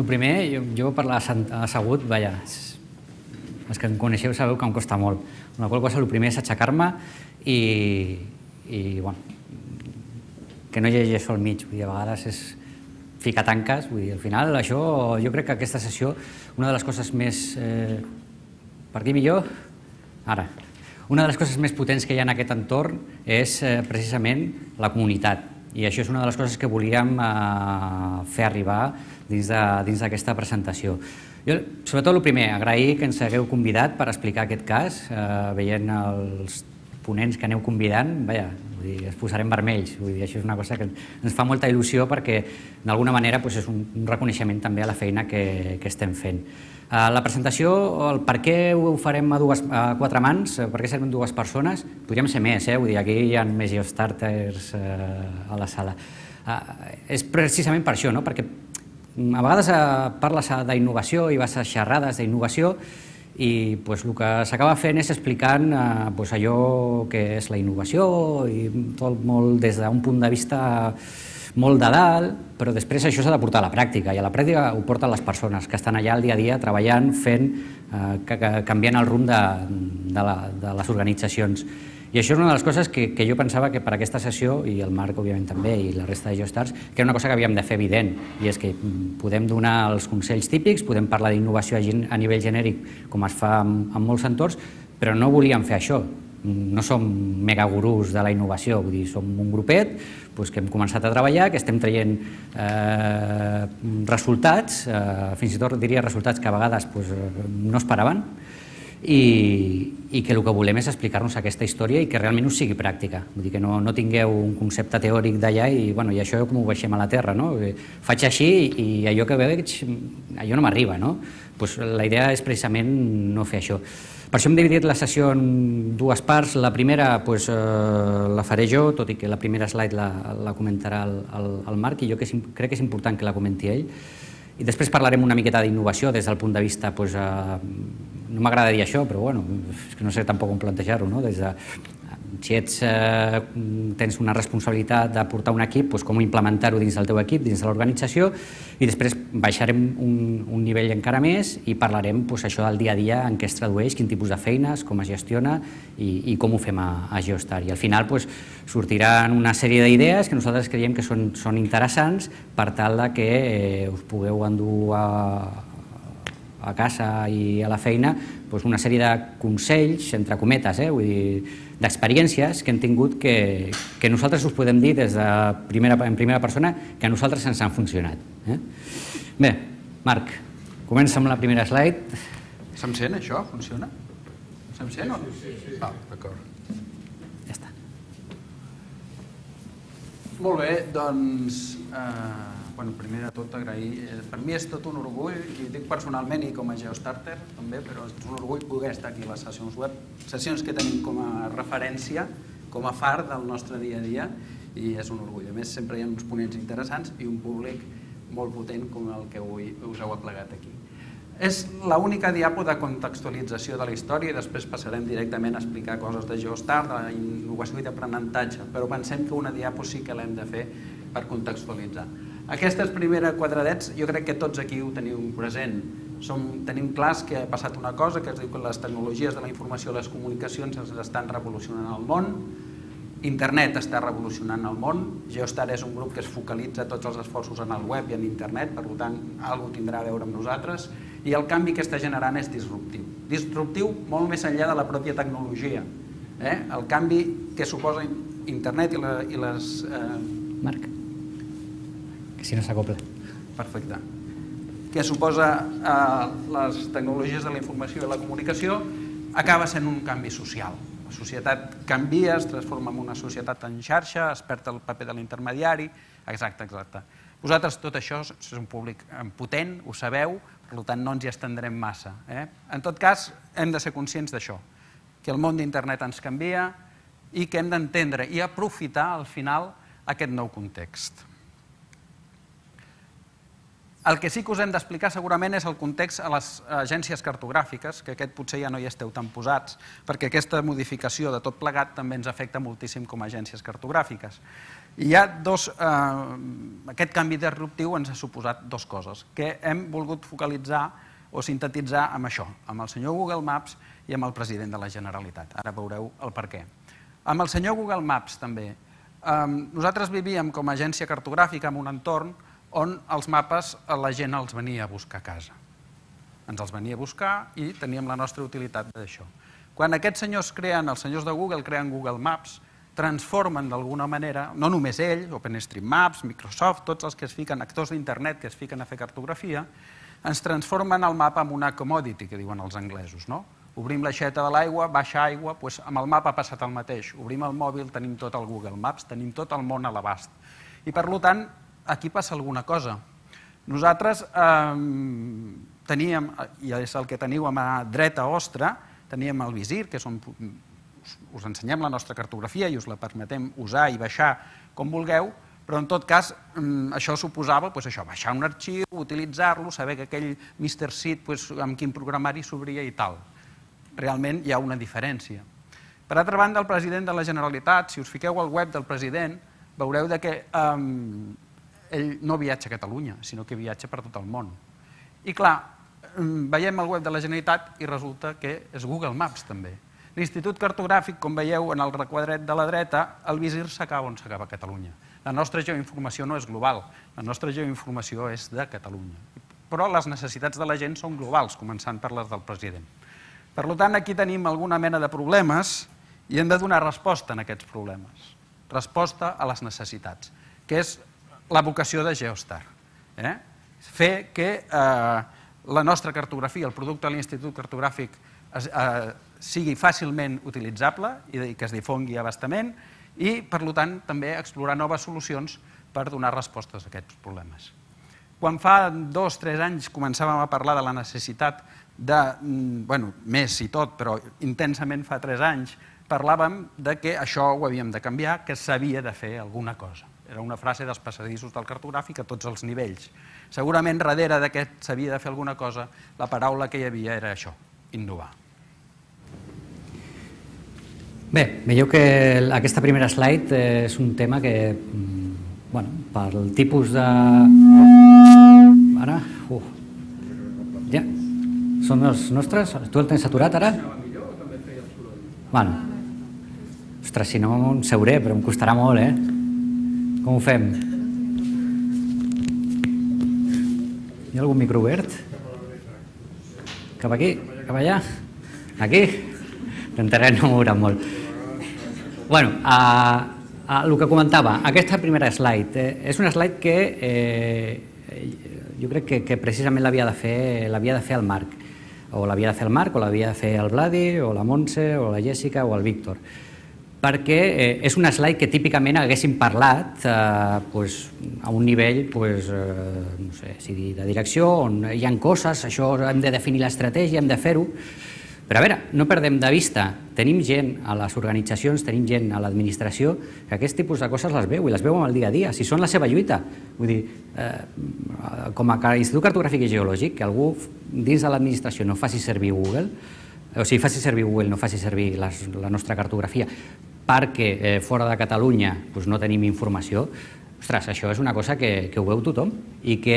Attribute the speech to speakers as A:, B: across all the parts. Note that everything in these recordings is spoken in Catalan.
A: El primer, jo per l'assegut, vaja, els que em coneixeu sabeu que em costa molt. Amb la qual cosa, el primer és aixecar-me i bueno, que no hi hagi això al mig. Vull dir, a vegades és ficar tanques. Vull dir, al final, això, jo crec que aquesta sessió, una de les coses més... Per dir millor, ara, una de les coses més potents que hi ha en aquest entorn és precisament la comunitat. I això és una de les coses que volíem fer arribar dins d'aquesta presentació. Jo, sobretot, el primer, agrair que ens hagueu convidat per explicar aquest cas, veient els ponents que aneu convidant, vaja, es posarem vermells. Això és una cosa que ens fa molta il·lusió perquè, d'alguna manera, és un reconeixement també a la feina que estem fent. La presentació, el per què ho farem a quatre mans, per què serem dues persones, podríem ser més, vull dir, aquí hi ha més geostarters a la sala. És precisament per això, perquè a vegades parles d'innovació i vas a xerrades d'innovació i el que s'acaba fent és explicant allò que és la innovació i tot molt des d'un punt de vista molt de dalt, però després això s'ha de portar a la pràctica, i a la pràctica ho porten les persones que estan allà el dia a dia treballant, fent, canviant el rumb de les organitzacions. I això és una de les coses que jo pensava que per aquesta sessió, i el Marc òbviament també, i la resta de Geostars, que era una cosa que havíem de fer evident, i és que podem donar els consells típics, podem parlar d'innovació a nivell genèric, com es fa en molts entorns, però no volíem fer això. No som megagurús de la innovació, vull dir, som un grupet que hem començat a treballar, que estem traient resultats, fins i tot diria resultats que a vegades no esperaven, i que el que volem és explicar-nos aquesta història i que realment us sigui pràctica. Vull dir que no tingueu un concepte teòric d'allà i això com ho baixem a la terra. Faig així i allò que veig, allò no m'arriba. La idea és precisament no fer això. Per això hem dividit la sessió en dues parts. La primera la faré jo, tot i que la primera slide la comentarà el Marc, i jo crec que és important que la comenti ell. I després parlarem una miqueta d'innovació des del punt de vista, no m'agrada dir això, però és que no sé tampoc com plantejar-ho, des de si tens una responsabilitat de portar un equip, com implementar-ho dins del teu equip, dins de l'organització, i després baixarem un nivell encara més i parlarem això del dia a dia, en què es tradueix, quin tipus de feines, com es gestiona i com ho fem a Geostar. I al final sortiran una sèrie d'idees que nosaltres creiem que són interessants per tal que us pugueu endur a casa i a la feina una sèrie de consells, entre cometes, vull dir, d'experiències que hem tingut que nosaltres us podem dir en primera persona que a nosaltres ens han funcionat. Bé, Marc, comença amb la primera slide.
B: Se'm sent, això? Funciona? Se'm sent o no?
C: Sí.
B: D'acord.
A: Ja està.
B: Molt bé, doncs... primer de tot agrair, per mi és tot un orgull, i ho dic personalment i com a Geostarter també, però és un orgull poder estar aquí a les sessions web, sessions que tenim com a referència, com a far del nostre dia a dia, i és un orgull. A més, sempre hi ha uns ponents interessants i un públic molt potent com el que avui us heu aplegat aquí. És l'única diapo de contextualització de la història i després passarem directament a explicar coses de Geostar, d'innovació i d'aprenentatge, però pensem que una diapo sí que l'hem de fer per contextualitzar. Aquestes primeres quadradets jo crec que tots aquí ho teniu present. Tenim clars que ha passat una cosa, que es diu que les tecnologies de la informació i les comunicacions estan revolucionant el món, internet està revolucionant el món, Geostar és un grup que es focalitza tots els esforços en el web i en internet, per tant, alguna cosa tindrà a veure amb nosaltres, i el canvi que està generant és disruptiu. Disruptiu molt més enllà de la pròpia tecnologia. El canvi que suposa internet i les...
A: Marc, que si no s'acopla.
B: Perfecte. Que suposa les tecnologies de la informació i la comunicació acaba sent un canvi social. La societat canvia, es transforma en una societat en xarxa, es perd el paper de l'intermediari, exacte. Vosaltres tot això és un públic potent, ho sabeu, per tant no ens hi estendrem massa. En tot cas, hem de ser conscients d'això, que el món d'internet ens canvia i que hem d'entendre i aprofitar al final aquest nou context. El que sí que us hem d'explicar segurament és el context a les agències cartogràfiques, que aquest potser ja no hi esteu tan posats, perquè aquesta modificació de tot plegat també ens afecta moltíssim com a agències cartogràfiques. I hi ha aquest canvi disruptiu ens ha suposat dues coses, que hem volgut focalitzar o sintetitzar amb això, amb el senyor Google Maps i amb el president de la Generalitat. Ara veureu el per què. Amb el senyor Google Maps també. Nosaltres vivíem com a agència cartogràfica en un entorn on els mapes la gent els venia a buscar a casa. Ens els venia a buscar i teníem la nostra utilitat d'això. Quan aquests senyors els senyors de Google creen Google Maps, transformen d'alguna manera, no només ell, OpenStreetMaps, Microsoft, tots els que es fiquen, actors d'internet que es fiquen a fer cartografia, ens transformen el mapa en una commodity, que diuen els anglesos, no? Obrim l'aixeta de l'aigua, baixa aigua, doncs amb el mapa ha passat el mateix. Obrim el mòbil, tenim tot el Google Maps, tenim tot el món a l'abast. I per tant, aquí passa alguna cosa. Nosaltres teníem, i és el que teniu a mà dreta vostra, teníem el visir, que és on us ensenyem la nostra cartografia i us la permetem usar i baixar com vulgueu, però en tot cas això suposava baixar un arxiu, utilitzar-lo, saber que aquell Mr. Seed amb quin programari s'obria i tal. Realment hi ha una diferència. Per altra banda, el president de la Generalitat, si us fiqueu al web del president, veureu que ell no viatja a Catalunya, sinó que viatja per tot el món. I clar, veiem el web de la Generalitat i resulta que és Google Maps també. L'Institut Cartogràfic, com veieu en el requadret de la dreta, el visir s'acaba on s'acaba Catalunya. La nostra geoinformació no és global, la nostra geoinformació és de Catalunya. Però les necessitats de la gent són globals, començant per les del president. Per tant, aquí tenim alguna mena de problemes i hem de donar resposta a aquests problemes. Resposta a les necessitats, que és la vocació de Geostar. Fer que la nostra cartografia, el producte de l'Institut Cartogràfic, sigui fàcilment utilitzable i que es difongui a bastament i, per tant, també explorar noves solucions per donar respostes a aquests problemes. Quan fa 2 o 3 anys començàvem a parlar de la necessitat de, més i tot, però intensament fa 3 anys, parlàvem que això ho havíem de canviar, que s'havia de fer alguna cosa. Era una frase dels passadissos del cartogràfic a tots els nivells. Segurament, darrere d'aquest s'havia de fer alguna cosa, la paraula que hi havia era això, innovar.
A: Bé, veieu que aquesta primera slide és un tema que, pel tipus de... Ara, ja, són els nostres? Tu el tens aturat ara? Ostres, si no em seuré, però em costarà molt, Com ho fem? Hi ha algun micro obert? Cap aquí? Cap allà? Aquí? Intentaré no moure'm molt. El que comentava, aquesta primera slide, és una slide que jo crec que precisament l'havia de fer el Marc, o l'havia de fer el Marc, o l'havia de fer el Vladi, o la Montse, o la Jèssica, o el Víctor, perquè és una slide que típicament haguéssim parlat a un nivell de direcció, on hi ha coses, això hem de definir l'estratègia, hem de fer-ho, però a veure, no perdem de vista, tenim gent a les organitzacions, tenim gent a l'administració que aquest tipus de coses les veu i les veu en el dia a dia, si són la seva lluita. Vull dir, com a Institut Cartogràfic i Geològic, que algú dins de l'administració no faci servir Google, o sigui, faci servir Google, no faci servir la nostra cartografia, perquè fora de Catalunya no tenim informació, ostres, això és una cosa que ho veu tothom i que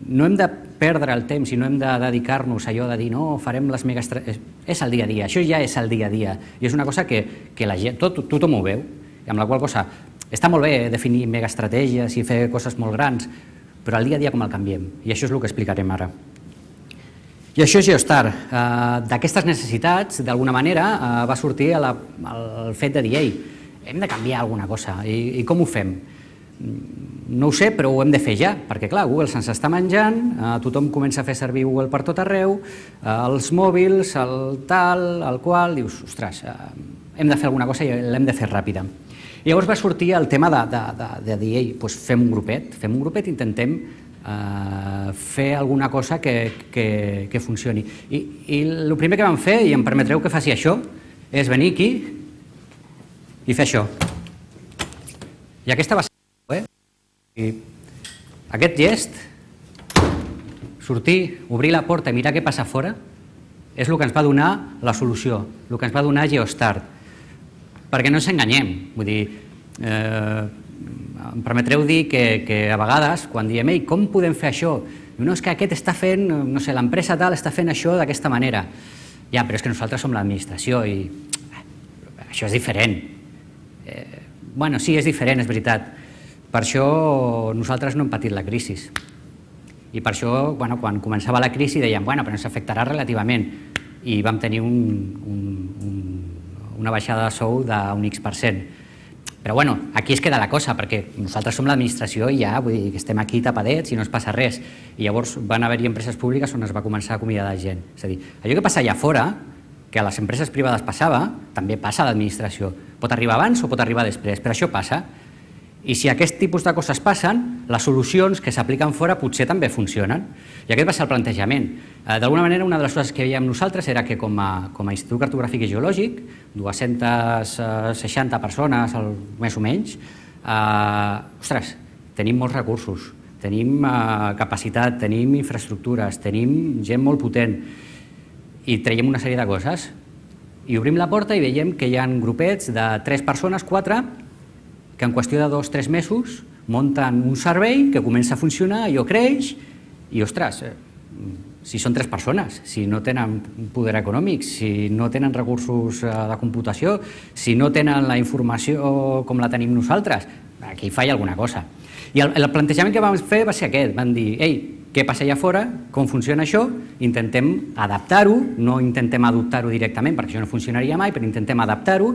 A: no hem de perdre el temps i no hem de dedicar-nos a allò de dir no, farem les megaestratègies. És el dia a dia, això ja és el dia a dia i és una cosa que la gent, tothom ho veu, amb la qual cosa està molt bé definir megaestratègies i fer coses molt grans, però el dia a dia com el canviem i això és el que explicarem ara. I això és Geostar. D'aquestes necessitats, d'alguna manera, va sortir el fet de dir ei, hem de canviar alguna cosa i com ho fem? No ho sé, però ho hem de fer ja, perquè clar, Google se'ns està menjant, tothom comença a fer servir Google per tot arreu, els mòbils, el tal, el qual, dius, ostres, hem de fer alguna cosa i l'hem de fer ràpida. I llavors va sortir el tema de dir, ei, fem un grupet, intentem fer alguna cosa que funcioni. I el primer que vam fer, i em permetreu que faci això, és venir aquí i fer això. I aquesta va ser... I aquest gest, sortir, obrir la porta i mirar què passa fora, és el que ens va donar la solució, el que ens va donar Geostart. Perquè no ens enganyem, vull dir, em permetreu dir que a vegades, quan diem, ei, com podem fer això? No, és que aquest està fent, no sé, l'empresa tal està fent això d'aquesta manera. Ja, però és que nosaltres som l'administració i això és diferent. Bueno, sí, és diferent, és veritat. Per això nosaltres no hem patit la crisi. I per això, quan començava la crisi, dèiem, bueno, però ens afectarà relativament. I vam tenir una baixada de sou d'un X%. Però bueno, aquí es queda la cosa, perquè nosaltres som l'administració i ja, vull dir, que estem aquí tapadets i no es passa res. I llavors van haver-hi empreses públiques on es va començar a acomiadar gent. És a dir, allò que passa allà fora, que a les empreses privades passava, també passa a l'administració. Pot arribar abans o pot arribar després, però això passa. I si aquest tipus de coses passen, les solucions que s'apliquen fora potser també funcionen. I aquest va ser el plantejament. D'alguna manera, una de les coses que veiem nosaltres era que com a Institut Cartogràfic i Geològic, 260 persones, més o menys, ostres, tenim molts recursos, tenim capacitat, tenim infraestructures, tenim gent molt potent i traiem una sèrie de coses. I obrim la porta i veiem que hi ha grupets de 3 persones, 4, que en qüestió de 2 o 3 mesos munten un servei que comença a funcionar, allò creix i, ostres, si són 3 persones, si no tenen poder econòmic, si no tenen recursos de computació, si no tenen la informació com la tenim nosaltres, aquí falla alguna cosa. I el plantejament que vam fer va ser aquest, vam dir, ei, què passa allà fora, com funciona això, intentem adaptar-ho, no intentem adoptar-ho directament perquè això no funcionaria mai, però intentem adaptar-ho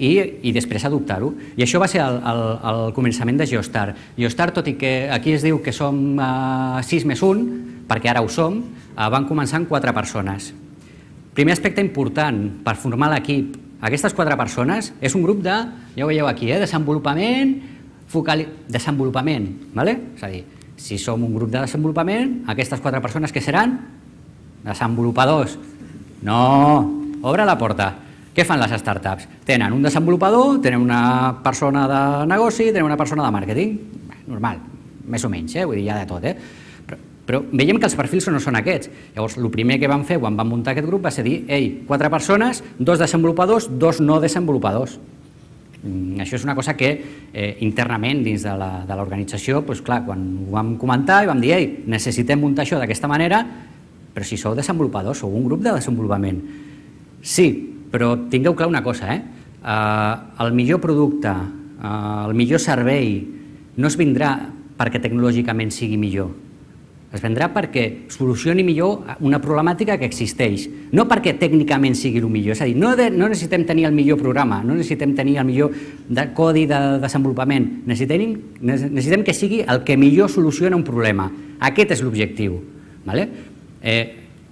A: i després adoptar-ho. I això va ser el començament de Geostart. Geostart, tot i que aquí es diu que som 6 més 1, perquè ara ho som, van començar amb 4 persones. Primer aspecte important per formar l'equip. Aquestes 4 persones és un grup de, ja ho veieu aquí, desenvolupament, desenvolupament, és a dir, si som un grup de desenvolupament, aquestes 4 persones què seran? Desenvolupadors. No, obre la porta. Què fan les startups? Tenen un desenvolupador, tenen una persona de negoci, tenen una persona de màrqueting. Normal, més o menys, vull dir, hi ha de tot. Però veiem que els perfils no són aquests. Llavors, el primer que vam fer quan vam muntar aquest grup va ser dir, ei, 4 persones, 2 desenvolupadors, 2 no desenvolupadors. Això és una cosa que internament dins de l'organització, clar, quan ho vam comentar i vam dir, ei, necessitem muntar això d'aquesta manera, però si sou desenvolupadors, sou un grup de desenvolupament. Sí, però tingueu clar una cosa, el millor producte, el millor servei no es vindrà perquè tecnològicament sigui millor, es vendrà perquè solucioni millor una problemàtica que existeix, no perquè tècnicament sigui el millor, és a dir, no necessitem tenir el millor programa, no necessitem tenir el millor codi de desenvolupament, necessitem que sigui el que millor soluciona un problema, aquest és l'objectiu.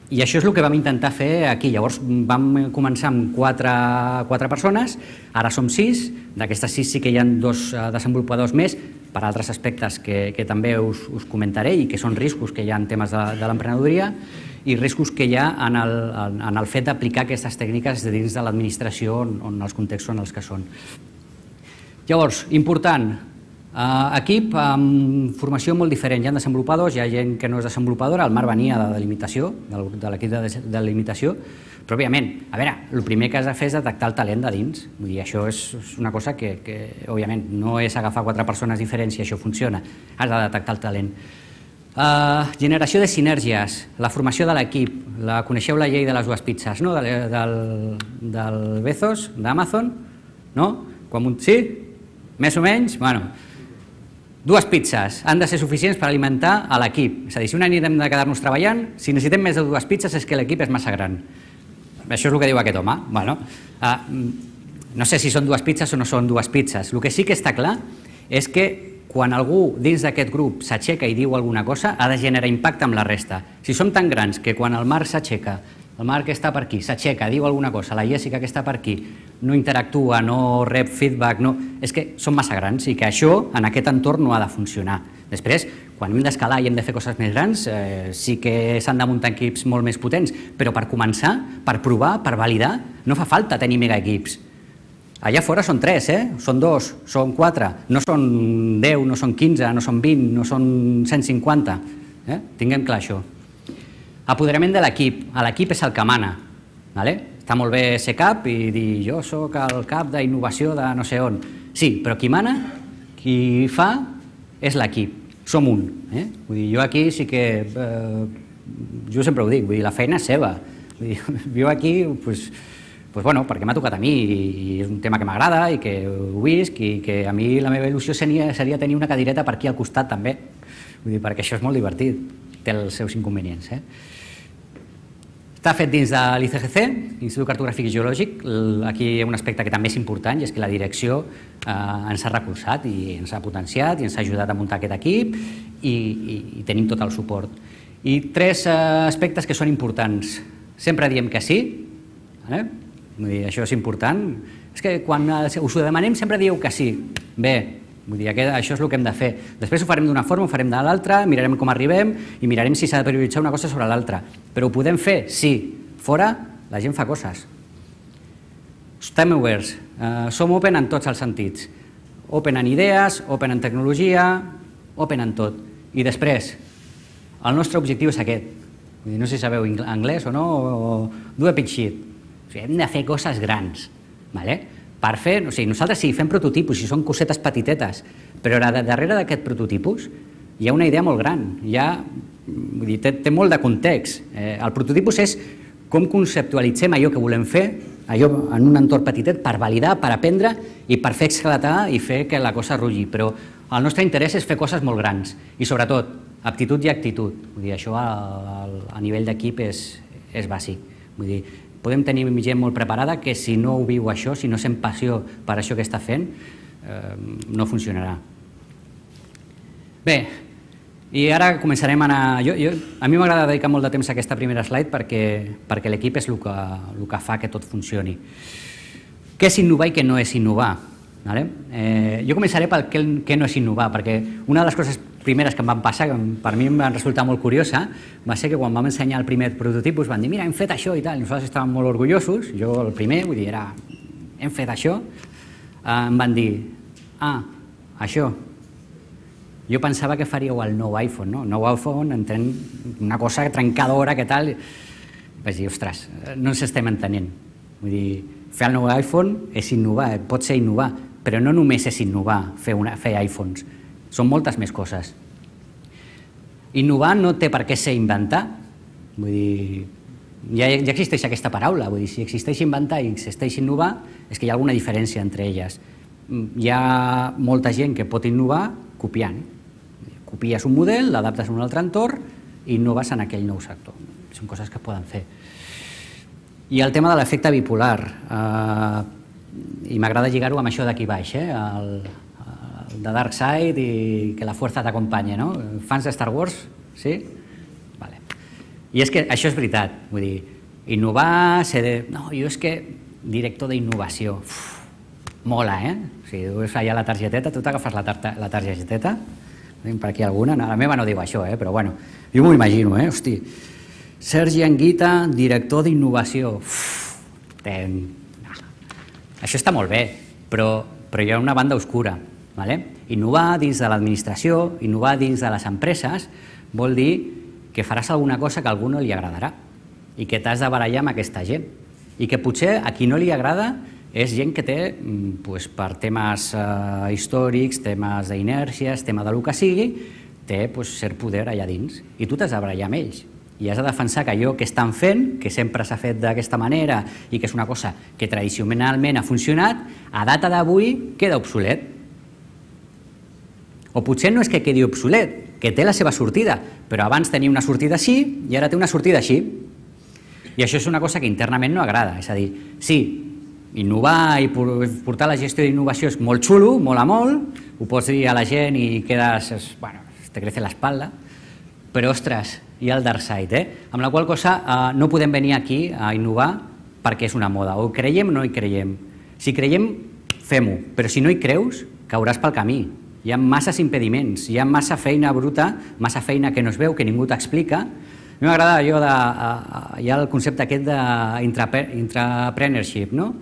A: I això és el que vam intentar fer aquí. Llavors vam començar amb 4 persones, ara som 6, d'aquestes 6 sí que hi ha 2 desenvolupadors més, per altres aspectes que també us comentaré i que són riscos que hi ha en temes de l'emprenedoria i riscos que hi ha en el fet d'aplicar aquestes tècniques dins de l'administració en els contextos en els que són. Llavors, important, equip amb formació molt diferent. Hi ha desenvolupadors, hi ha gent que no és desenvolupadora, el Marc venia de delimitació, de l'equip de delimitació, però òbviament, a veure, el primer que has de fer és detectar el talent de dins. Vull dir, això és una cosa que òbviament, no és agafar 4 persones diferents i això funciona, has de detectar el talent. Generació de sinergies, la formació de l'equip, coneixeu la llei de les 2 pizzas, no? Del Bezos, d'Amazon, no? Sí? Més o menys? Bueno, 2 pizzas han de ser suficients per alimentar a l'equip. És a dir, si un any hem de quedar-nos treballant, si necessitem més de 2 pizzas és que l'equip és massa gran. Això és el que diu aquest home. No sé si són 2 pizzas o no són 2 pizzas. El que sí que està clar és que quan algú dins d'aquest grup s'aixeca i diu alguna cosa, ha de generar impacte amb la resta. Si som tan grans que quan el Marc s'aixeca, el Marc que està per aquí, s'aixeca, diu alguna cosa, la Jessica que està per aquí, no interactua, no rep feedback, és que som massa grans i que això en aquest entorn no ha de funcionar. Després, quan hem d'escalar i hem de fer coses més grans, sí que s'han de muntar equips molt més potents, però per començar, per provar, per validar, no fa falta tenir mega equips. Allà fora són 3, són 2, són 4, no són 10, no són 15, no són 20, no són 150. Tinguem clar això. Apoderament de l'equip. L'equip és el que mana. Està molt bé ser cap i dir jo sóc el cap d'innovació de no sé on. Sí, però qui mana, qui fa, és l'equip. Som un. Jo aquí sí que... Jo sempre ho dic, la feina és seva. Jo aquí... perquè m'ha tocat a mi i és un tema que m'agrada i que ho visc i que a mi la meva il·lusió seria tenir una cadireta per aquí al costat també, perquè això és molt divertit, té els seus inconvenients. Està fet dins de l'ICGC, l'Institut Cartogràfic i Geològic. Aquí hi ha un aspecte que també és important i és que la direcció ens ha recolzat i ens ha potenciat i ens ha ajudat a muntar aquest equip i tenim tot el suport. I 3 aspectes que són importants. Sempre diem que sí, això és important. És que quan us ho demanem sempre dieu que sí. Bé, això és el que hem de fer. Després ho farem d'una forma, ho farem de l'altra, mirarem com arribem i mirarem si s'ha de prioritzar una cosa sobre l'altra. Però ho podem fer? Sí. Fora, la gent fa coses. Estem oberts. Som open en tots els sentits. Open en idees, open en tecnologia, open en tot. I després, el nostre objectiu és aquest. No sé si sabeu anglès o no, do a big shit. Hem de fer coses grans. Per fer, nosaltres sí, fem prototipus i són cosetes petitetes, però darrere d'aquest prototipus hi ha una idea molt gran, té molt de context. El prototipus és com conceptualitzem allò que volem fer, allò en un entorn petitet, per validar, per aprendre i per fer esclatar i fer que la cosa rulli. Però el nostre interès és fer coses molt grans i, sobretot, aptitud i actitud. Això a nivell d'equip és bàsic. Podem tenir gent molt preparada que si no ho viu això, si no sent passió per això que està fent, no funcionarà. Bé, i ara començarem a anar... A mi m'agrada dedicar molt de temps a aquesta primera slide perquè l'equip és el que fa que tot funcioni. Què és innovar i què no és innovar? Jo començaré pel què no és innovar, perquè una de les coses primeres que em van passar, que per mi em van resultar molt curiosa, va ser que quan vam ensenyar el primer prototipus van dir, mira, hem fet això i tal, i nosaltres estàvem molt orgullosos, jo el primer, vull dir, hem fet això, em van dir, això, jo pensava que faríeu el nou iPhone, no? El nou iPhone, una cosa trencadora, que tal, vaig dir, ostres, no ens estem entenent, vull dir, fer el nou iPhone és innovar, pot ser innovar, però no només és innovar, fer iPhones, són moltes més coses. Innovar no té per què ser inventar. Vull dir, ja existeix aquesta paraula. Vull dir, si existeix inventar i existeix innovar, és que hi ha alguna diferència entre elles. Hi ha molta gent que pot innovar copiant. Copies un model, l'adaptes a un altre entorn i innoves en aquell nou sector. Són coses que poden fer. I el tema de l'efecte bipolar. I m'agrada lligar-ho amb això d'aquí baix, de Dark Side i que la fuerza t'acompanye, no? Fans de Star Wars? Sí? Vale. I és que això és veritat, vull dir, innovar, no, jo és que director d'innovació, mola, Si dues allà la targeteta, tu t'agafes la targeteta, per aquí alguna, la meva no diu això, però bueno, jo m'ho imagino, hosti, Sergi Anguita, director d'innovació, això està molt bé, però hi ha una banda oscura. Innovar dins de l'administració, innovar dins de les empreses, vol dir que faràs alguna cosa que a algú no li agradarà i que t'has de barallar amb aquesta gent i que potser a qui no li agrada és gent que té, per temes històrics, temes d'inèrcies, tema del que sigui, té cert poder allà dins i tu t'has de barallar amb ells i has de defensar que allò que estan fent, que sempre s'ha fet d'aquesta manera i que és una cosa que tradicionalment ha funcionat, a data d'avui queda obsolet. O potser no és que quedi obsolet, que té la seva sortida, però abans tenia una sortida així i ara té una sortida així. I això és una cosa que internament no agrada. És a dir, sí, innovar i portar la gestió d'innovació és molt xulo, mola molt, ho pots dir a la gent i quedes, bueno, te crece l'espalda, però, ostres, hi ha el dark side, amb la qual cosa no podem venir aquí a innovar perquè és una moda. O creiem o no hi creiem. Si creiem, fem-ho, però si no hi creus, cauràs pel camí. Hi ha masses impediments, hi ha massa feina bruta, massa feina que no es veu, que ningú t'explica. A mi m'agrada allò hi ha el concepte aquest d'intrapreneurship, no?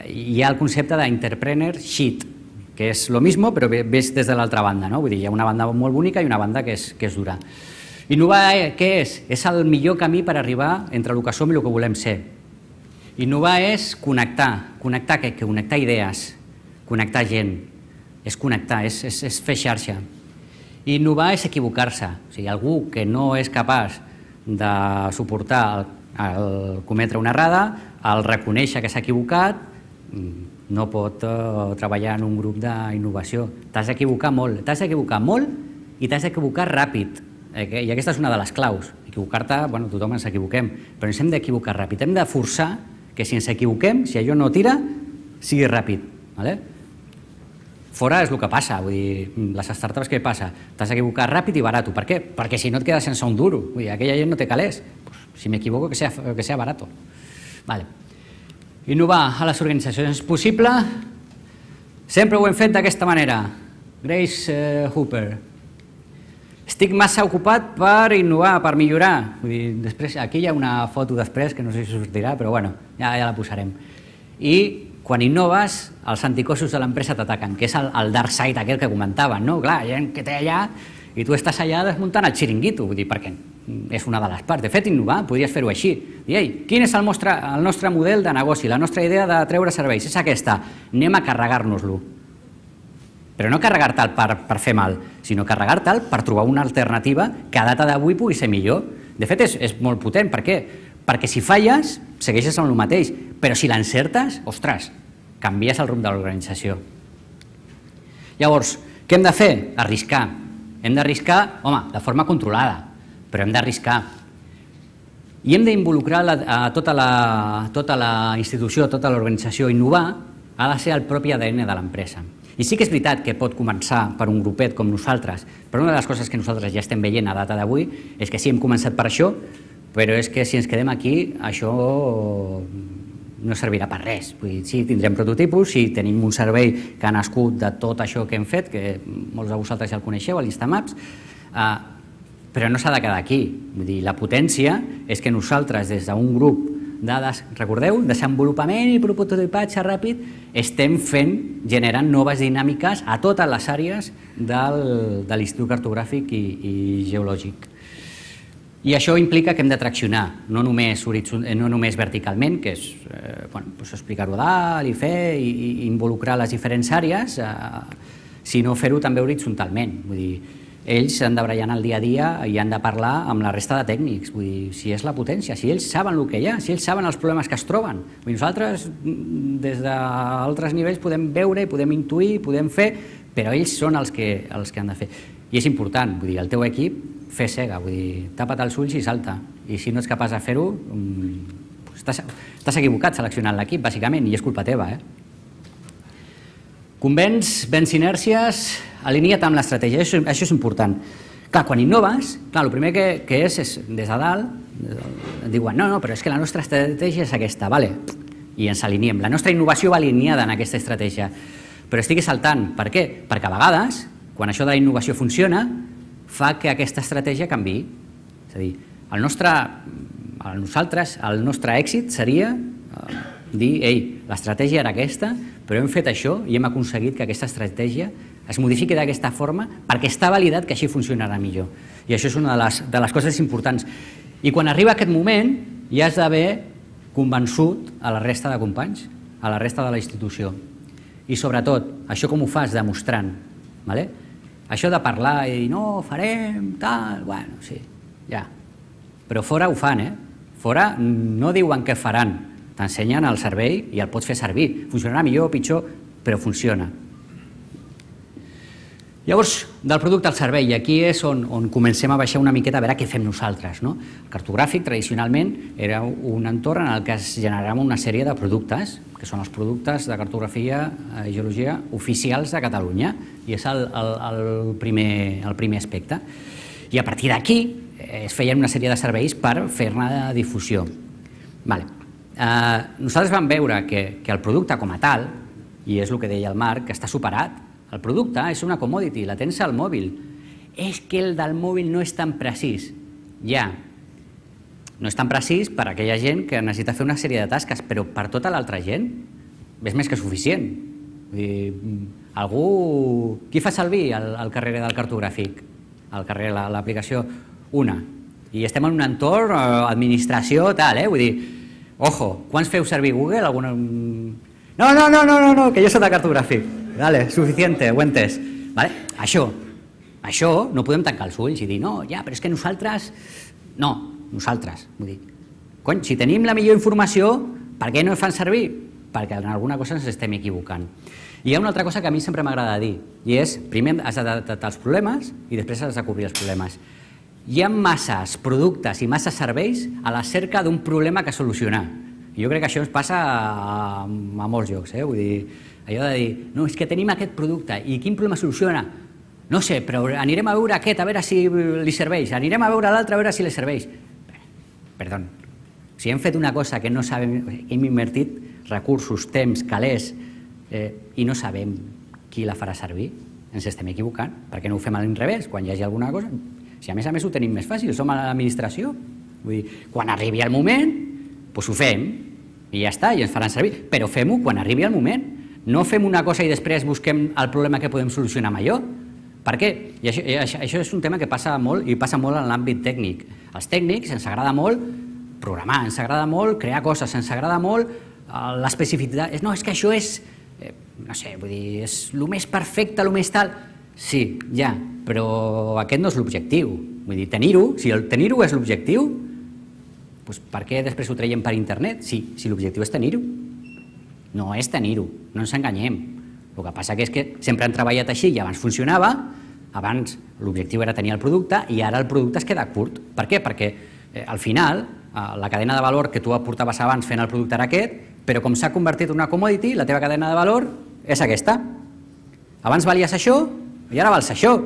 A: hi ha el concepte d'entrepreneurship, que és lo mismo però ves des de l'altra banda, no? Vull dir, hi ha una banda molt bonica i una banda que és dura. Innovar, què és? És el millor camí per arribar entre el que som i el que volem ser. Innovar és connectar. Connectar què? Connectar idees, connectar gent, és connectar, és fer xarxa. Innovar és equivocar-se. O sigui, algú que no és capaç de suportar el cometre una errada, el reconèixer que s'ha equivocat, no pot treballar en un grup d'innovació. T'has d'equivocar molt i t'has d'equivocar ràpid. I aquesta és una de les claus. Equivocar-te, bueno, tothom ens equivoquem, però ens hem d'equivocar ràpid. Hem de forçar que si ens equivoquem, si allò no tira, sigui ràpid. Fora és el que passa, vull dir, les startups què passa? T'has d'equivocar ràpid i barato. Per què? Perquè si no et quedes sense un duro. Vull dir, aquella gent no té calés. Si m'equivoco, que sea barato. Innovar a les organitzacions és possible. Sempre ho hem fet d'aquesta manera. Grace Hooper. Estic massa ocupat per innovar, per millorar. Vull dir, després, aquí hi ha una foto després, que no sé si sortirà, però bueno, ja la posarem. I quan innoves, els anticossos de l'empresa t'ataquen, que és el dark side aquell que comentaven, no? Clar, hi ha gent que té allà i tu estàs allà desmuntant el xiringuito, vull dir, perquè és una de les parts. De fet, innovar, podries fer-ho així. Dir, ei, quin és el nostre model de negoci, la nostra idea de treure serveis? És aquesta, anem a carregar-nos-lo. Però no carregar-te'l per fer mal, sinó carregar-te'l per trobar una alternativa que a data d'avui pugui ser millor. De fet, és molt potent. Per què? Perquè si falles, segueixes amb el mateix, però si l'encertes, ostres, canvies el rumb de l'organització. Llavors, què hem de fer? Arriscar. Hem d'arriscar, home, de forma controlada, però hem d'arriscar. I hem d'involucrar tota la institució, tota l'organització. Innovar ha de ser el propi ADN de l'empresa. I sí que és veritat que pot començar per un grupet com nosaltres, però una de les coses que nosaltres ja estem veient a data d'avui és que sí, hem començat per això, però és que si ens quedem aquí, això no servirà per res. Vull dir, sí, tindrem prototipus, sí, tenim un servei que ha nascut de tot això que hem fet, que molts de vosaltres ja el coneixeu, l'Instamaps, però no s'ha de quedar aquí. Vull dir, la potència és que nosaltres, des d'un grup dades, recordeu, desenvolupament i prototipatge ràpid, estem generant noves dinàmiques a totes les àrees de l'Institut Cartogràfic i Geològic. I això implica que hem de traccionar, no només verticalment, que és explicar-ho a dalt i fer, i involucrar les diferents àrees, sinó fer-ho també horitzontalment. Vull dir, ells han de barallar el dia a dia i han de parlar amb la resta de tècnics. Vull dir, si és la potència, si ells saben el que hi ha, si ells saben els problemes que es troben. Vull dir, nosaltres, des d'altres nivells, podem veure, podem intuir, podem fer, però ells són els que han de fer. I és important, vull dir, el teu equip, fer cega, vull dir, tapa't els ulls i salta. I si no ets capaç de fer-ho, estàs equivocat seleccionant l'equip, bàsicament, i és culpa teva. Convenç, venç inèrcies, alinea't amb l'estratègia, això és important. Clar, quan innoves, el primer que és des de dalt, et diuen, no, però és que la nostra estratègia és aquesta, i ens aliniem. La nostra innovació va alineada en aquesta estratègia, però estigui saltant. Per què? Perquè a vegades, quan això de la innovació funciona, fa que aquesta estratègia canviï. És a dir, el nostre èxit seria dir, ei, l'estratègia era aquesta, però hem fet això i hem aconseguit que aquesta estratègia es modifiqui d'aquesta forma perquè està validat que així funcionarà millor. I això és una de les coses importants. I quan arriba aquest moment, ja has d'haver convençut a la resta de companys, a la resta de la institució. I sobretot, això com ho fas? Demostrant. Això de parlar i dir, no, farem, tal, bueno, sí, ja. Però fora ho fan, Fora no diuen què faran, t'ensenyen el servei i el pots fer servir. Funcionarà millor o pitjor, però funciona. Llavors, del producte al servei, i aquí és on comencem a baixar una miqueta a veure què fem nosaltres. El cartogràfic, tradicionalment, era un entorn en el que es generaven una sèrie de productes, que són els productes de cartografia i geologia oficials de Catalunya, i és el primer aspecte. I a partir d'aquí es feien una sèrie de serveis per fer-ne difusió. Nosaltres vam veure que el producte com a tal, i és el que deia el Marc, que està superat. El producte és una commodity, la tens al mòbil. És que el del mòbil no és tan precís. Ja, no és tan precís per a aquella gent que necessita fer una sèrie de tasques, però per tota l'altra gent és més que suficient. Vull dir, algú... Qui fa servir el carrer del cartogràfic? El carrer, l'aplicació, una. I estem en un entorn, administració, tal, vull dir, ojo, quants feu servir Google? Alguna... No, que jo soc de cartogràfic. Vale, suficiente, ho he entès. Vale? Això no podem tancar els ulls i dir, no, ja, però és que nosaltres... No, nosaltres, vull dir, cony, si tenim la millor informació, per què no fan servir? Perquè en alguna cosa ens estem equivocant. I hi ha una altra cosa que a mi sempre m'agrada dir, i és, primer has de detectar els problemes i després has de cobrir els problemes. Hi ha masses productes i masses serveis a la cerca d'un problema que solucionar. I jo crec que això ens passa a molts llocs, vull dir, allò de dir, no, és que tenim aquest producte i quin problema soluciona? No sé, però anirem a veure aquest, a veure si li serveix, anirem a veure l'altre, a veure si li serveix. Perdó, si hem fet una cosa que no sabem, hem invertit recursos, temps, calés, i no sabem qui la farà servir, ens estem equivocant. Per què no ho fem a l'inrevés? Quan hi hagi alguna cosa, si a més ho tenim més fàcil, som a l'administració. Vull dir, quan arribi el moment, doncs ho fem, i ja està, i ens faran servir. Però fem-ho quan arribi el moment. No fem una cosa i després busquem el problema que podem solucionar amb allò. Per què? I això és un tema que passa molt, i passa molt en l'àmbit tècnic. Els tècnics ens agrada molt programar, ens agrada molt crear coses, ens agrada molt l'especificitat. No, és que això és, no sé, vull dir, és el més perfecte, el més tal. Sí, ja, però aquest no és l'objectiu. Vull dir, tenir-ho, si el tenir-ho és l'objectiu, doncs per què després ho traiem per internet? Si l'objectiu és tenir-ho. No és tenir-ho, no ens enganyem. El que passa és que sempre han treballat així i abans funcionava, abans l'objectiu era tenir el producte i ara el producte es queda curt. Per què? Perquè al final la cadena de valor que tu aportaves abans fent el producte era aquest, però com s'ha convertit en una commodity, la teva cadena de valor és aquesta. Abans valies això i ara vals això.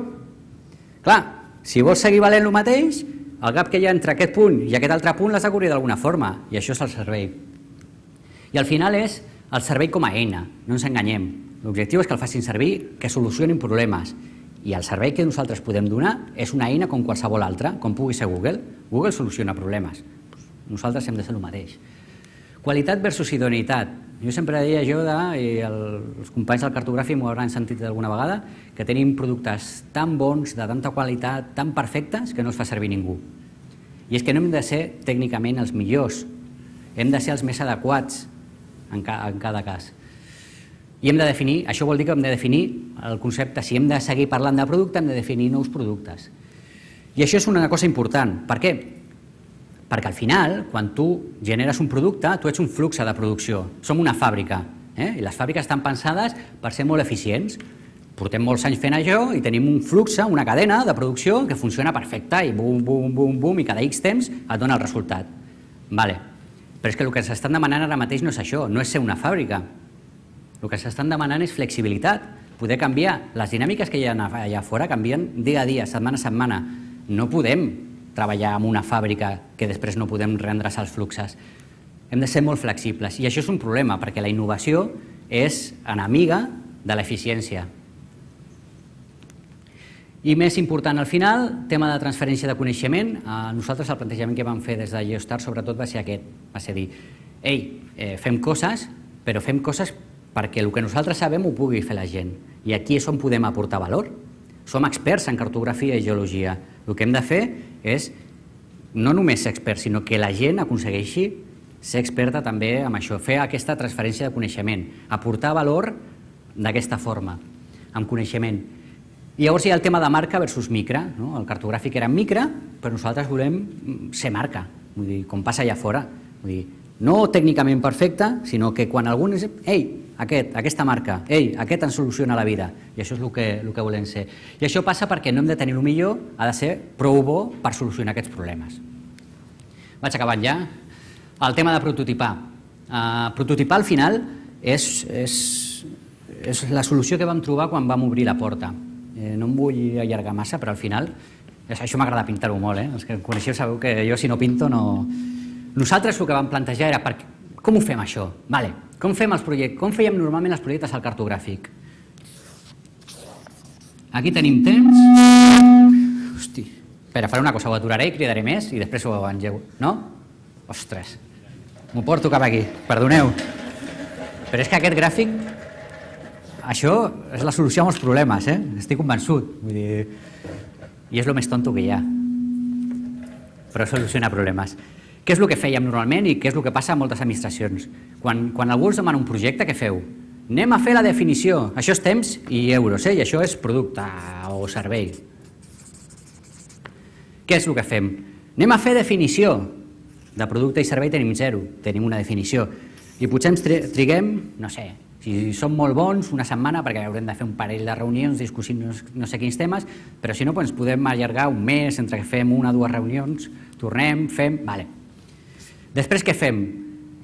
A: Clar, si vols seguir valent el mateix, el gap que hi ha entre aquest punt i aquest altre punt l'has de cobrir d'alguna forma, i això és el servei. I al final és el servei com a eina, no ens enganyem. L'objectiu és que el facin servir, que solucionin problemes. I el servei que nosaltres podem donar és una eina com qualsevol altra, com pugui ser Google. Google soluciona problemes. Nosaltres hem de ser el mateix. Qualitat versus idoneïtat. Jo sempre deia i els companys del cartogràfic m'ho hauran sentit alguna vegada, que tenim productes tan bons, de tanta qualitat, tan perfectes, que no els fa servir ningú. I és que no hem de ser tècnicament els millors, hem de ser els més adequats en cada cas. I hem de definir, això vol dir que hem de definir el concepte, si hem de seguir parlant de producte, hem de definir nous productes. I això és una cosa important. Per què? Perquè al final, quan tu generes un producte, tu ets un flux de producció. Som una fàbrica, i les fàbriques estan pensades per ser molt eficients. Portem molts anys fent això i tenim un flux, una cadena de producció que funciona perfecte i bum, bum, bum, bum, i cada X temps et dona el resultat. Vale. Però és que el que s'estan demanant ara mateix no és això, no és ser una fàbrica. El que s'estan demanant és flexibilitat, poder canviar. Les dinàmiques que hi ha allà fora canvien dia a dia, setmana a setmana. No podem treballar en una fàbrica que després no podem reendreçar els fluxos. Hem de ser molt flexibles i això és un problema perquè la innovació és enemiga de l'eficiència. I més important al final, tema de transferència de coneixement. Nosaltres el plantejament que vam fer des de Geostart sobretot va ser aquest, va ser dir, fem coses, però fem coses perquè el que nosaltres sabem ho pugui fer la gent. I aquí és on podem aportar valor. Som experts en cartografia i geologia. El que hem de fer és no només ser experts, sinó que la gent aconsegueixi ser experta també en això, fer aquesta transferència de coneixement, aportar valor d'aquesta forma, amb coneixement. I llavors hi ha el tema de marca versus micra. El cartogràfic era micra, però nosaltres volem ser marca, com passa allà fora. No tècnicament perfecte, sinó que quan algú és aquesta marca, aquest ens soluciona la vida, i això és el que volem ser. I això passa perquè no hem de tenir el millor, ha de ser prou bo per solucionar aquests problemes. Vaig acabant ja. El tema de prototipar. Prototipar al final és la solució que vam trobar quan vam obrir la porta. No em vull allargar massa, però al final, això m'agrada pintar-ho molt, els que em coneixeu sabeu que jo si no pinto no... Nosaltres el que vam plantejar era com ho fem això? Com fem els projectes? Com fèiem normalment els projectes al cartogràfic? Aquí tenim temps. Hosti. Espera, faré una cosa, ho aturaré i cridaré més i després ho engego. No? Ostres. M'ho porto cap aquí. Perdoneu. Però és que aquest gràfic, això és la solució a molts problemes, estic convençut. Vull dir, i és el més tonto que hi ha. Però soluciona problemes. Què és el que fèiem normalment i què és el que passa a moltes administracions? Quan algú us demana un projecte, què feu? Anem a fer la definició. Això és temps i euros, i això és producte o servei. Què és el que fem? Anem a fer definició. De producte i servei tenim 0, tenim una definició. I potser ens triguem, no sé, si som molt bons, una setmana, perquè haurem de fer un parell de reunions, discutir no sé quins temes, però si no, ens podem allargar un mes entre que fem una o dues reunions, tornem, fem... Vale. Després què fem?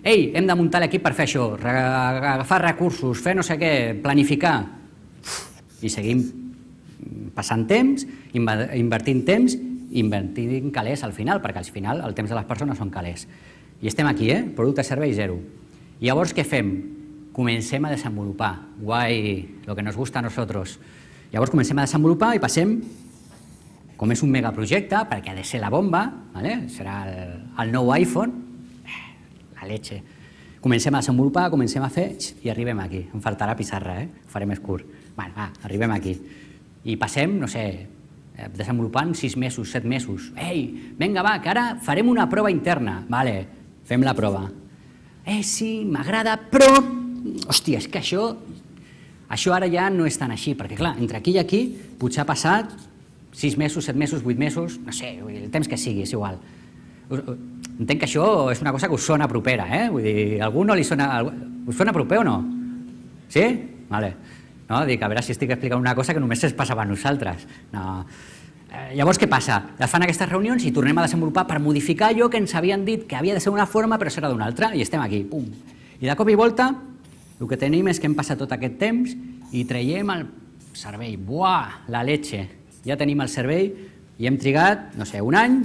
A: Ei, hem de muntar l'equip per fer això, agafar recursos, fer no sé què, planificar. I seguim passant temps, invertint temps, invertint calés al final, perquè al final el temps de les persones són calés. I estem aquí, producte, servei, 0. I llavors què fem? Comencem a desenvolupar. Guai, lo que nos gusta a nosotros. Llavors comencem a desenvolupar i passem, com és un megaprojecte, perquè ha de ser la bomba, serà el nou iPhone, la leche. Comencem a desenvolupar, comencem a fer i arribem aquí. Em faltarà pissarra, ho faré més curt. Bueno, va, arribem aquí. I passem, no sé, desenvolupant 6 mesos, 7 mesos. Ei, vinga, va, que ara farem una prova interna. Vale, fem la prova. Sí, m'agrada, però... Hòstia, és que això ara ja no és tan així, perquè clar, entre aquí i aquí potser ha passat 6 mesos, 7 mesos, 8 mesos, no sé, el temps que sigui, és igual. Entenc que això és una cosa que us sona propera, Vull dir, a algú no li sona... Us sona proper o no? Sí? Vale. No, dic, a veure si estic explicant una cosa que només es passava a nosaltres. No. Llavors, què passa? Es fan aquestes reunions i tornem a desenvolupar per modificar allò que ens havien dit que havia de ser una forma però serà d'una altra, i estem aquí, pum. I de cop i volta, el que tenim és que hem passat tot aquest temps i traiem el servei. Buah, la leche! Ja tenim el servei i hem trigat, no sé, un any,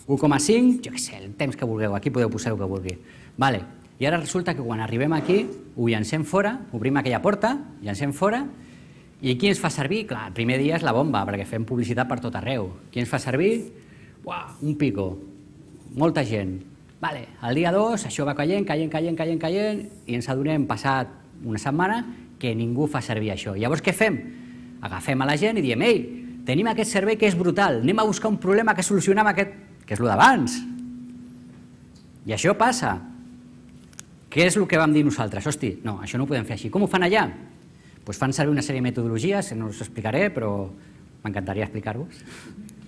A: 1,5, jo què sé, el temps que vulgueu, aquí podeu posar el que vulgui. Vale. I ara resulta que quan arribem aquí, ho llancem fora, obrim aquella porta, llancem fora, i qui ens fa servir? Clar, el primer dia és la bomba, perquè fem publicitat per tot arreu. Qui ens fa servir? Uah, un pico, molta gent. Vale, el dia 2 això va caient, i ens adonem passat una setmana que ningú fa servir això. Llavors què fem? Agafem a la gent i diem, ei, tenim aquest servei que és brutal, anem a buscar un problema que solucionem aquest, que és el d'abans. I això passa. Què és el que vam dir nosaltres? Hosti, no, això no ho podem fer així. Com ho fan allà? Doncs fan servir una sèrie de metodologies, no us explicaré, però m'encantaria explicar-vos.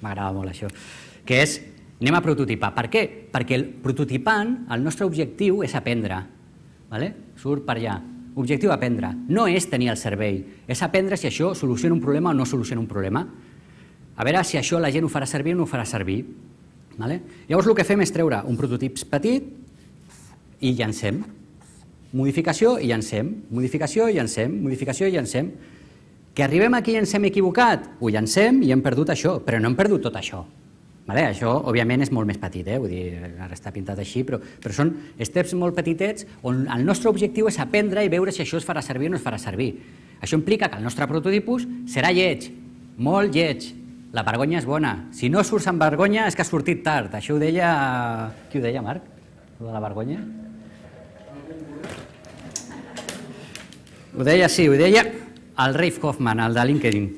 A: M'agrada molt això. Que és, anem a prototipar. Per què? Perquè prototipant, el nostre objectiu és aprendre. Surt per allà. Objectiu aprendre. No és tenir el servei. És aprendre si això soluciona un problema o no soluciona un problema. A veure si això la gent ho farà servir o no ho farà servir. Llavors el que fem és treure un prototip petit i llancem. Modificació i llancem. Modificació i llancem. Modificació i llancem. Que arribem aquí i ens hem equivocat? Ho llancem i hem perdut això, però no hem perdut tot això. Això, òbviament, és molt més petit, vull dir, ara està pintat així, però són steps molt petitets on el nostre objectiu és aprendre i veure si això es farà servir o no es farà servir. Això implica que el nostre prototipus serà lleig, molt lleig. La vergonya és bona. Si no surts amb vergonya és que has sortit tard. Això ho deia... Qui ho deia, Marc? Ho de la vergonya? Ho deia, sí, ho deia el Rafe Hoffman, el de LinkedIn.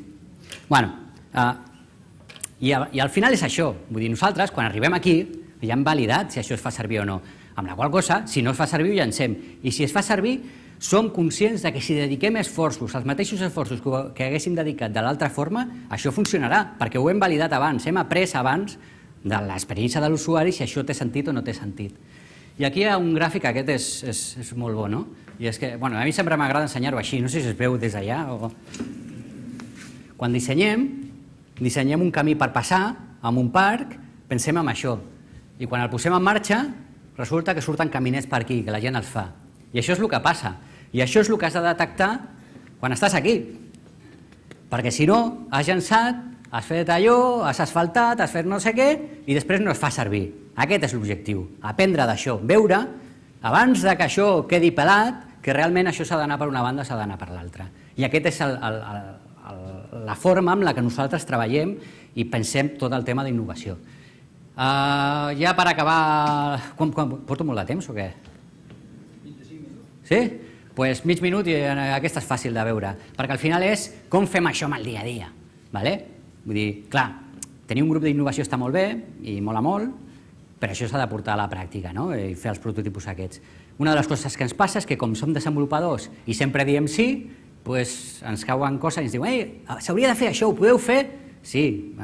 A: I al final és això. Vull dir, nosaltres, quan arribem aquí, ja hem validat si això es fa servir o no. Amb la qual cosa, si no es fa servir, ho llancem. I si es fa servir, som conscients que si dediquem esforços, els mateixos esforços que haguéssim dedicat de l'altra forma, això funcionarà, perquè ho hem validat abans, hem après abans de l'experiència de l'usuari si això té sentit o no té sentit. I aquí hi ha un gràfic, aquest és molt bo, no? I és que, a mi sempre m'agrada ensenyar-ho així, no sé si es veu des d'allà o... Quan dissenyem un camí per passar en un parc, pensem en això. I quan el posem en marxa, resulta que surten caminets per aquí, que la gent els fa. I això és el que passa. I això és el que has de detectar quan estàs aquí. Perquè si no, has llançat, has fet allò, has asfaltat, has fet no sé què, i després no es fa servir. Aquest és l'objectiu, aprendre d'això, veure, abans que això quedi pelat, que realment això s'ha d'anar per una banda, s'ha d'anar per l'altra. I aquest és la forma amb la que nosaltres treballem i pensem tot el tema d'innovació. Ja per acabar... Porto molt de temps o què? 25 minuts. Sí? Doncs mig minut i aquesta és fàcil de veure, perquè al final és com fem això amb el dia a dia. Vull dir, clar, tenir un grup d'innovació està molt bé i mola molt, però això s'ha de portar a la pràctica i fer els prototipus aquests. Una de les coses que ens passa és que com som desenvolupadors i sempre diem sí, doncs ens cauen coses i ens diuen s'hauria de fer això, ho podeu fer? Sí,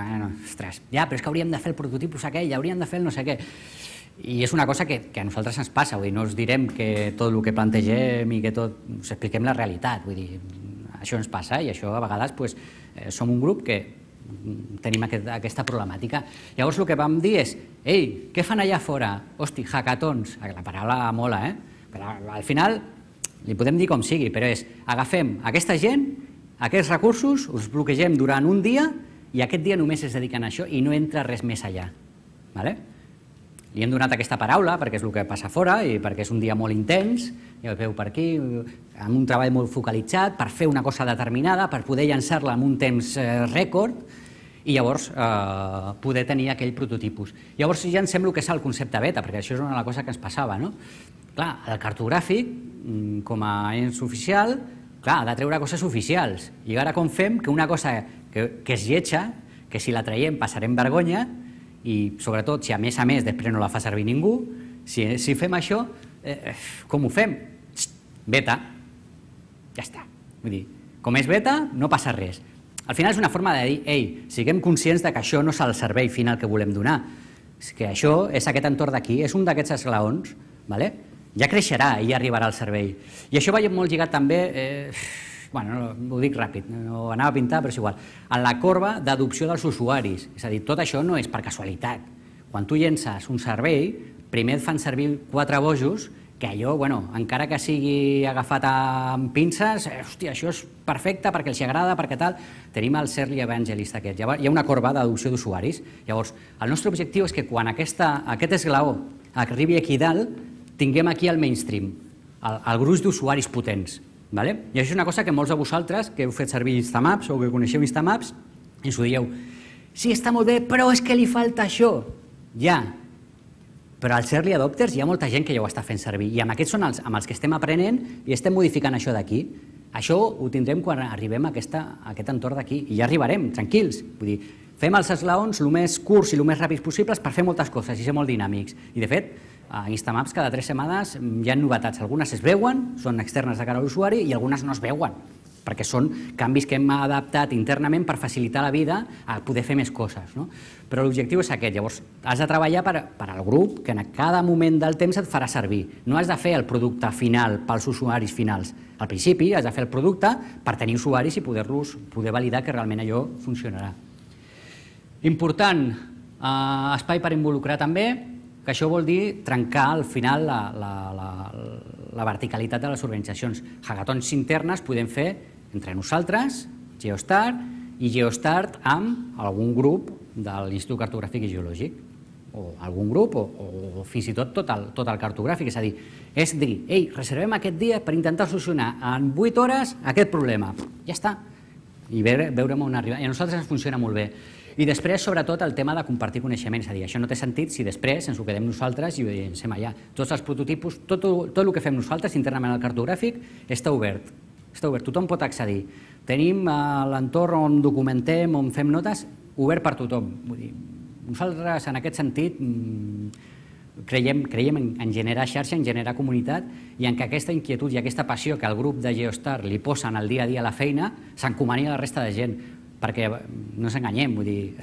A: ostres, ja, però és que hauríem de fer el prototipus aquell, hauríem de fer el no sé què. I és una cosa que a nosaltres ens passa, vull dir, no us direm que tot el que plantegem i que tot us expliquem la realitat, vull dir, això ens passa i això a vegades som un grup que tenim aquesta problemàtica. Llavors el que vam dir és, ei, què fan allà fora? Hosti, hackathons, la paraula mola, però al final li podem dir com sigui, però és, agafem aquesta gent, aquests recursos, us bloquegem durant un dia i aquest dia només es dediquen a això i no entra res més allà. Li hem donat aquesta paraula perquè és el que passa fora i perquè és un dia molt intens, ja ho veu per aquí, amb un treball molt focalitzat per fer una cosa determinada, per poder llançar-la en un temps rècord i llavors poder tenir aquell prototipus. Llavors ja ens sembla que és el concepte beta, perquè això és una cosa que ens passava. Clar, el cartogràfic, com a ens oficial, ha de treure coses oficials. I ara com fem que una cosa que és lletja, que si la traiem passarem vergonya, i sobretot si a més després no la fa servir ningú, si fem això, com ho fem? Beta. Ja està. Vull dir, com és beta, no passa res. Al final és una forma de dir, ei, siguem conscients que això no és el servei final que volem donar. Que això és aquest entorn d'aquí, és un d'aquests esglaons, ja creixerà i ja arribarà al servei. I això va molt lligat també, ho dic ràpid, no anava a pintar, però és igual, en la corba d'adopció dels usuaris. És a dir, tot això no és per casualitat. Quan tu llences un servei, primer et fan servir 4 bojos, que allò, encara que sigui agafat amb pinces, hòstia, això és perfecte perquè els agrada, perquè tal, tenim el Early Evangelist aquest. Hi ha una corba d'adopció d'usuaris. Llavors, el nostre objectiu és que quan aquest esglaó arribi aquí dalt, tinguem aquí el mainstream, el gruix d'usuaris potents. I això és una cosa que molts de vosaltres que heu fet servir Instamaps o que coneixeu Instamaps ens ho dieu, sí, està molt bé, però és que li falta això. Ja, però als early adopters hi ha molta gent que ja ho està fent servir i amb aquests són amb els que estem aprenent i estem modificant això d'aquí. Això ho tindrem quan arribem a aquest entorn d'aquí i ja arribarem, tranquils. Vull dir, fem els esglaons el més curts i el més ràpids possibles per fer moltes coses i ser molt dinàmics. I de fet, a Instamaps cada 3 setmanes hi ha novetats. Algunes es veuen, són externes de cara a l'usuari i algunes no es veuen, perquè són canvis que hem adaptat internament per facilitar la vida a poder fer més coses. Però l'objectiu és aquest. Llavors, has de treballar per al grup que en cada moment del temps et farà servir. No has de fer el producte final pels usuaris finals. Al principi has de fer el producte per tenir usuaris i poder validar que realment allò funcionarà. Important, espai per involucrar també, que això vol dir trencar al final la verticalitat de les organitzacions. Hackathons internes podem fer entre nosaltres, Geostart, i Geostart amb algun grup de l'Institut Cartogràfic i Geològic, o algun grup, o fins i tot el cartogràfic. És dir, ei, reservem aquest dia per intentar solucionar en 8 hores aquest problema. Ja està. I veurem on arriba. I a nosaltres ens funciona molt bé. I després, sobretot, el tema de compartir coneixement. És a dir, això no té sentit si després ens ho quedem nosaltres i ho llancem allà. Tots els prototipus, tot el que fem nosaltres internament al cartogràfic està obert. Tothom pot accedir. Tenim l'entorn on documentem, on fem notes, obert per tothom. Nosaltres, en aquest sentit, creiem en generar xarxa, en generar comunitat i en que aquesta inquietud i aquesta passió que el grup de Geostart li posen al dia a dia a la feina s'encomani a la resta de gent. Perquè no ens enganyem, vull dir,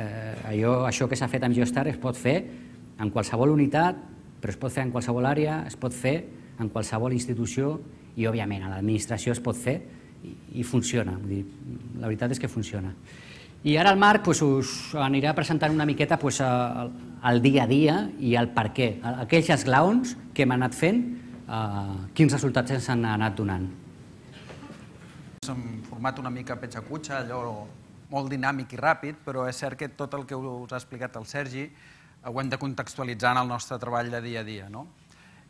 A: això que s'ha fet amb Geostart es pot fer en qualsevol unitat, però es pot fer en qualsevol àrea, es pot fer en qualsevol institució i, òbviament, a l'administració es pot fer i funciona. Vull dir, la veritat és que funciona. I ara el Marc us anirà presentant una miqueta el dia a dia i el per què, aquells esglaons que hem anat fent, quins resultats ens han anat donant.
B: En format una mica petxa-cutxa, allò molt dinàmic i ràpid, però és cert que tot el que us ha explicat el Sergi ho hem de contextualitzar en el nostre treball de dia a dia.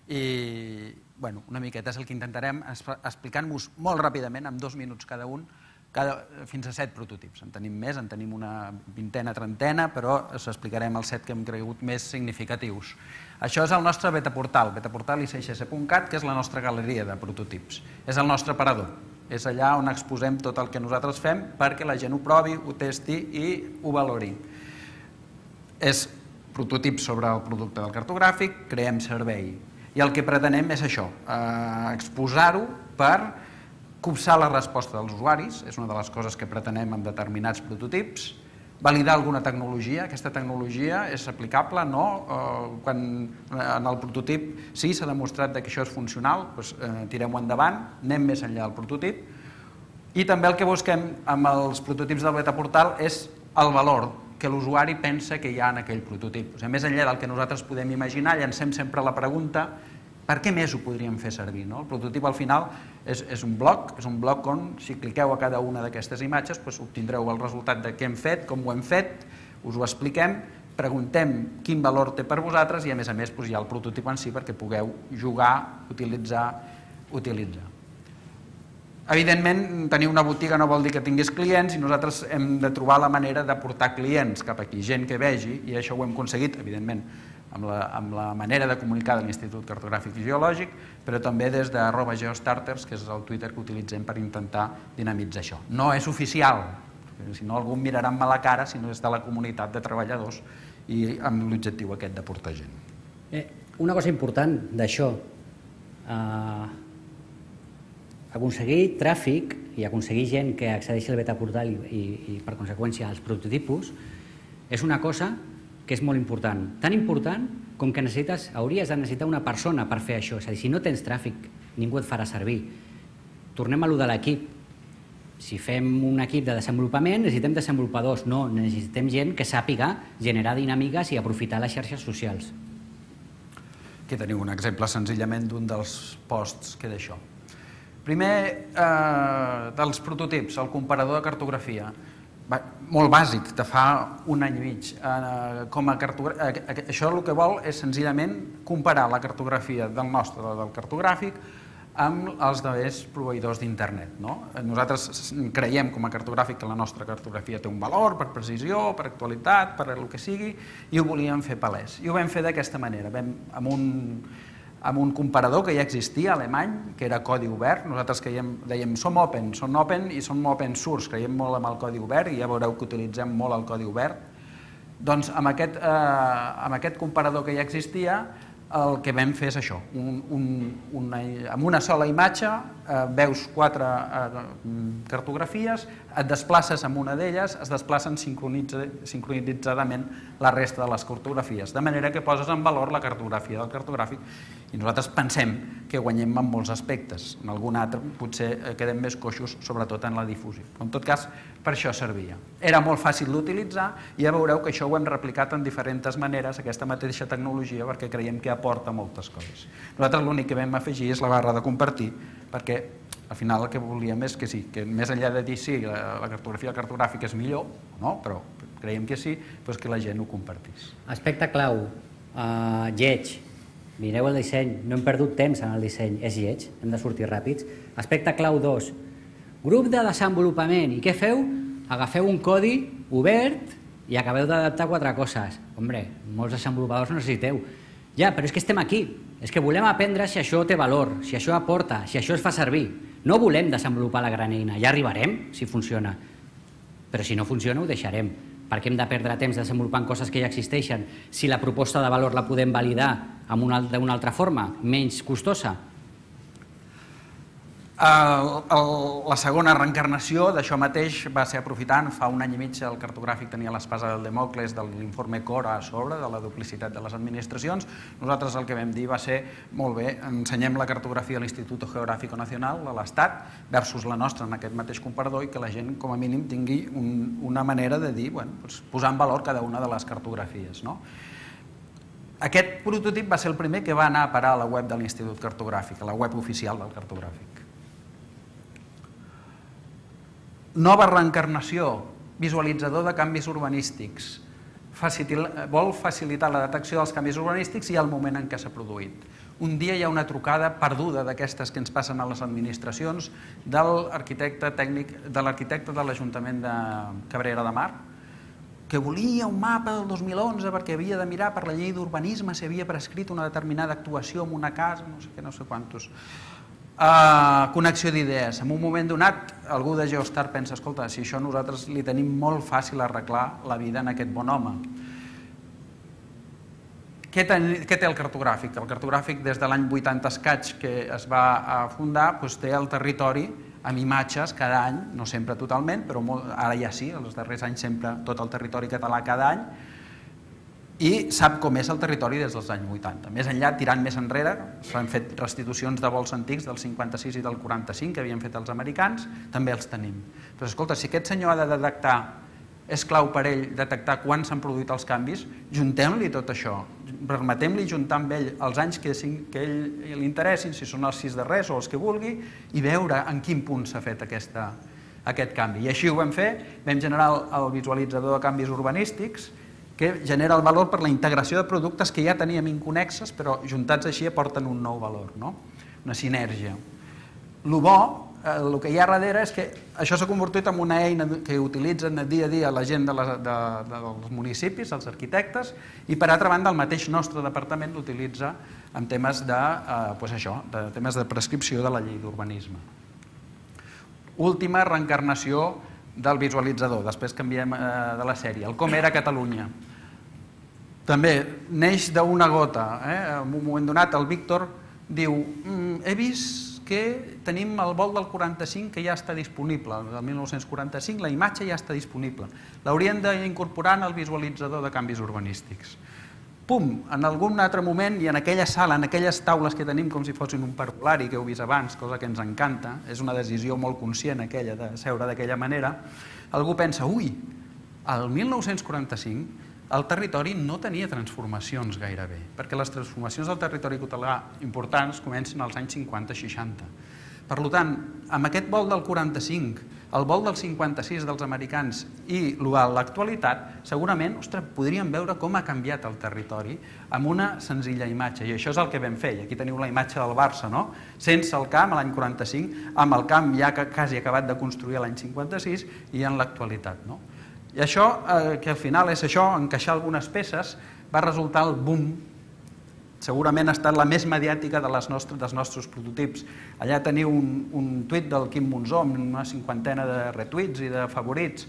B: I una miqueta és el que intentarem, explicant-vos molt ràpidament, en 2 minuts cada un, fins a 7 prototips. En tenim més, en tenim una vintena, trentena, però us explicarem els 7 que hem cregut més significatius. Això és el nostre betaportal, betaportal.icss.cat, que és la nostra galeria de prototips. És el nostre aparador. És allà on exposem tot el que nosaltres fem perquè la gent ho provi, ho testi i ho valori. És prototips sobre el producte del cartogràfic, creem servei. I el que pretenem és això, exposar-ho per copsar la resposta dels usuaris, és una de les coses que pretenem amb determinats prototips, validar alguna tecnologia, aquesta tecnologia és aplicable, no? Quan en el prototip sí s'ha demostrat que això és funcional, doncs tirem-ho endavant, anem més enllà del prototip, i també el que busquem amb els prototips del betaportal és el valor que l'usuari pensa que hi ha en aquell prototip. O sigui, més enllà del que nosaltres podem imaginar, llancem sempre la pregunta per què més ho podríem fer servir? El prototip al final és un bloc on si cliqueu a cada una d'aquestes imatges obtindreu el resultat de què hem fet, com ho hem fet, us ho expliquem, preguntem quin valor té per vosaltres i a més hi ha el prototip en si perquè pugueu jugar, utilitzar. Evidentment, tenir una botiga no vol dir que tinguis clients i nosaltres hem de trobar la manera de portar clients cap aquí, gent que vegi, i això ho hem aconseguit, evidentment, amb la manera de comunicar de l'Institut Cartogràfic i Geològic, però també des de @geostarters, que és el Twitter que utilitzem per intentar dinamitzar això. No és oficial, si no algú em mirarà amb mala cara, sinó és de la comunitat de treballadors i amb l'objectiu aquest de portar gent.
A: Una cosa important d'això, aconseguir tràfic i aconseguir gent que accedeixi al betaportal i per conseqüència als prototipus és una cosa que és molt important. Tan important com que hauries de necessitar una persona per fer això. És a dir, si no tens tràfic, ningú et farà servir. Tornem a allò de l'equip. Si fem un equip de desenvolupament, necessitem desenvolupadors. No, necessitem gent que sàpiga generar dinàmiques i aprofitar les xarxes socials.
B: Aquí teniu un exemple senzillament d'un dels posts que d'això. Primer, dels prototips, el comparador de cartografia. Molt bàsic, de fa un any i mig. Això el que vol és senzillament comparar la cartografia del nostre, del cartogràfic, amb els altres proveïdors d'internet. Nosaltres creiem com a cartogràfic que la nostra cartografia té un valor per precisió, per actualitat, per el que sigui, i ho volíem fer palès. I ho vam fer d'aquesta manera, amb un comparador que ja existia, alemany, que era codi obert. Nosaltres dèiem som open i som open source, creiem molt en el codi obert i ja veureu que utilitzem molt el codi obert. Doncs amb aquest comparador que ja existia, el que vam fer és això, amb una sola imatge veus 4 cartografies, et desplaces amb una d'elles, es desplacen sincronitzadament la resta de les cartografies, de manera que poses en valor la cartografia del cartogràfic i nosaltres pensem que guanyem en molts aspectes, en algun altre potser quedem més coixos, sobretot en la difusió. En tot cas, per això servia. Era molt fàcil d'utilitzar i ja veureu que això ho hem replicat en diferents maneres, aquesta mateixa tecnologia, perquè creiem que aporta moltes coses. Nosaltres l'únic que vam afegir és la barra de compartir, perquè al final el que volíem és que sí, que més enllà de dir sí, la cartografia cartogràfica és millor, no? Però creiem que sí, doncs que la gent ho compartís.
A: Aspecte clau, lleig. Mireu el disseny, no hem perdut temps en el disseny, és lleig, hem de sortir ràpids. Aspecte clau 2, grup de desenvolupament. I què feu? Agafeu un codi obert i acabeu d'adaptar 4 coses. Hombre, molts desenvolupadors no necessiteu. Ja, però és que estem aquí. És que volem aprendre si això té valor, si això aporta, si això es fa servir. No volem desenvolupar la gran eina. Ja arribarem si funciona. Però si no funciona ho deixarem. Per què hem de perdre temps desenvolupant coses que ja existeixen si la proposta de valor la podem validar d'una altra forma, menys costosa?
B: La segona reencarnació d'això mateix va ser aprofitant, fa un any i mig el cartogràfic tenia l'espasa del Demòcles de l'informe Cora a sobre, de la duplicitat de les administracions. Nosaltres el que vam dir va ser, molt bé, ensenyem la cartografia a l'Institut Geográfico Nacional de l'Estat versus la nostra en aquest mateix comparador i que la gent com a mínim tingui una manera de dir, posar en valor cada una de les cartografies. Aquest prototip va ser el primer que va anar a parar a la web de l'Institut Cartogràfic, a la web oficial del cartogràfic. Nova reencarnació, visualitzador de canvis urbanístics. Vol facilitar la detecció dels canvis urbanístics i el moment en què s'ha produït. un dia hi ha una trucada perduda d'aquestes que ens passen a les administracions de l'arquitecte de l'Ajuntament de Cabrera de Mar, que volia un mapa del 2011 perquè havia de mirar per la llei d'urbanisme si havia prescrit una determinada actuació en una casa, no sé què, no sé quantos. Connexió d'idees. En un moment donat, algú de Geostar pensa, escolta, si això nosaltres li tenim molt fàcil arreglar la vida en aquest bon home. Què té el cartogràfic? El cartogràfic, des de l'any 80 escaig que es va fundar, té el territori amb imatges cada any, no sempre totalment, però ara ja sí, els darrers anys sempre tot el territori català cada any, i sap com és el territori des dels anys 80. Més enllà, tirant més enrere, s'han fet restitucions de vols antics del 56 i del 45 que havien fet els americans, també els tenim. Però escolta, si aquest senyor ha de detectar, és clau per ell detectar quan s'han produït els canvis, juntem-li tot això, permetem-li juntar amb ell els anys que ell li interessin, si són els 6 darrers o els que vulgui, i veure en quin punt s'ha fet aquest canvi. I així ho vam fer, vam generar el visualitzador de canvis urbanístics, que genera el valor per la integració de productes que ja teníem inconnexes, però juntats així aporten un nou valor, una sinergia. El bo, el que hi ha darrere és que això s'ha convertit en una eina que utilitzen dia a dia la gent dels municipis, els arquitectes, i per altra banda el mateix nostre departament l'utilitza en temes de prescripció de la llei d'urbanisme. Última reencarnació del visualitzador, després canviem de la sèrie, el Com era Catalunya. També neix d'una gota. En un moment donat el Víctor diu he vist que tenim el vol del 45 que ja està disponible, del 1945 la imatge ja està disponible. L'haurien d'incorporar en el visualitzador de canvis urbanístics. Pum, en algun altre moment i en aquella sala, en aquelles taules que tenim com si fossin un parvulari que heu vist abans, cosa que ens encanta, és una decisió molt conscient aquella de seure d'aquella manera, algú pensa, ui, al 1945 el territori no tenia transformacions gairebé, perquè les transformacions del territori català importants comencen als anys 50-60. Per tant, amb aquest vol del 45, el vol del 56 dels americans i l'actualitat, segurament podríem veure com ha canviat el territori amb una senzilla imatge. I això és el que vam fer. I aquí teniu la imatge del Barça, sense el camp l'any 45, amb el camp ja quasi acabat de construir l'any 56 i en l'actualitat. I això, que al final és això, encaixar algunes peces, va resultar el boom. Segurament ha estat la més mediàtica dels nostres prototips. Allà teniu un tuit del Quim Monzó amb una 50ena de retuits i de favorits.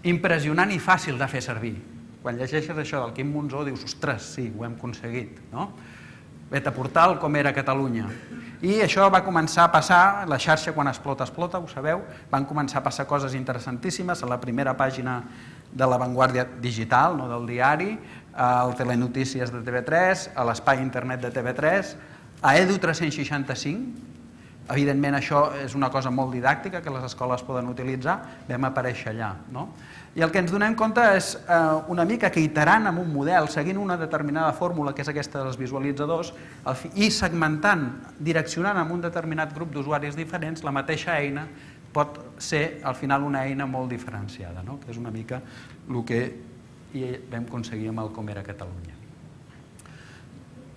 B: Impressionant i fàcil de fer servir. Quan llegeixes això del Quim Monzó dius, ostres, sí, ho hem aconseguit. Vet a portal Com era Catalunya. I això va començar a passar, la xarxa quan explota, ho sabeu, van començar a passar coses interessantíssimes a la primera pàgina de La Vanguardia Digital, del diari, al Telenotícies de TV3, a l'espai internet de TV3, a Edu 365, evidentment això és una cosa molt didàctica que les escoles poden utilitzar, vam aparèixer allà. I el que ens donem compte és una mica que iterant amb un model, seguint una determinada fórmula, que és aquesta dels visualitzadors, i segmentant, direccionant amb un determinat grup d'usuaris diferents, la mateixa eina pot ser al final una eina molt diferenciada, que és una mica el que vam aconseguir amb el Com era Catalunya.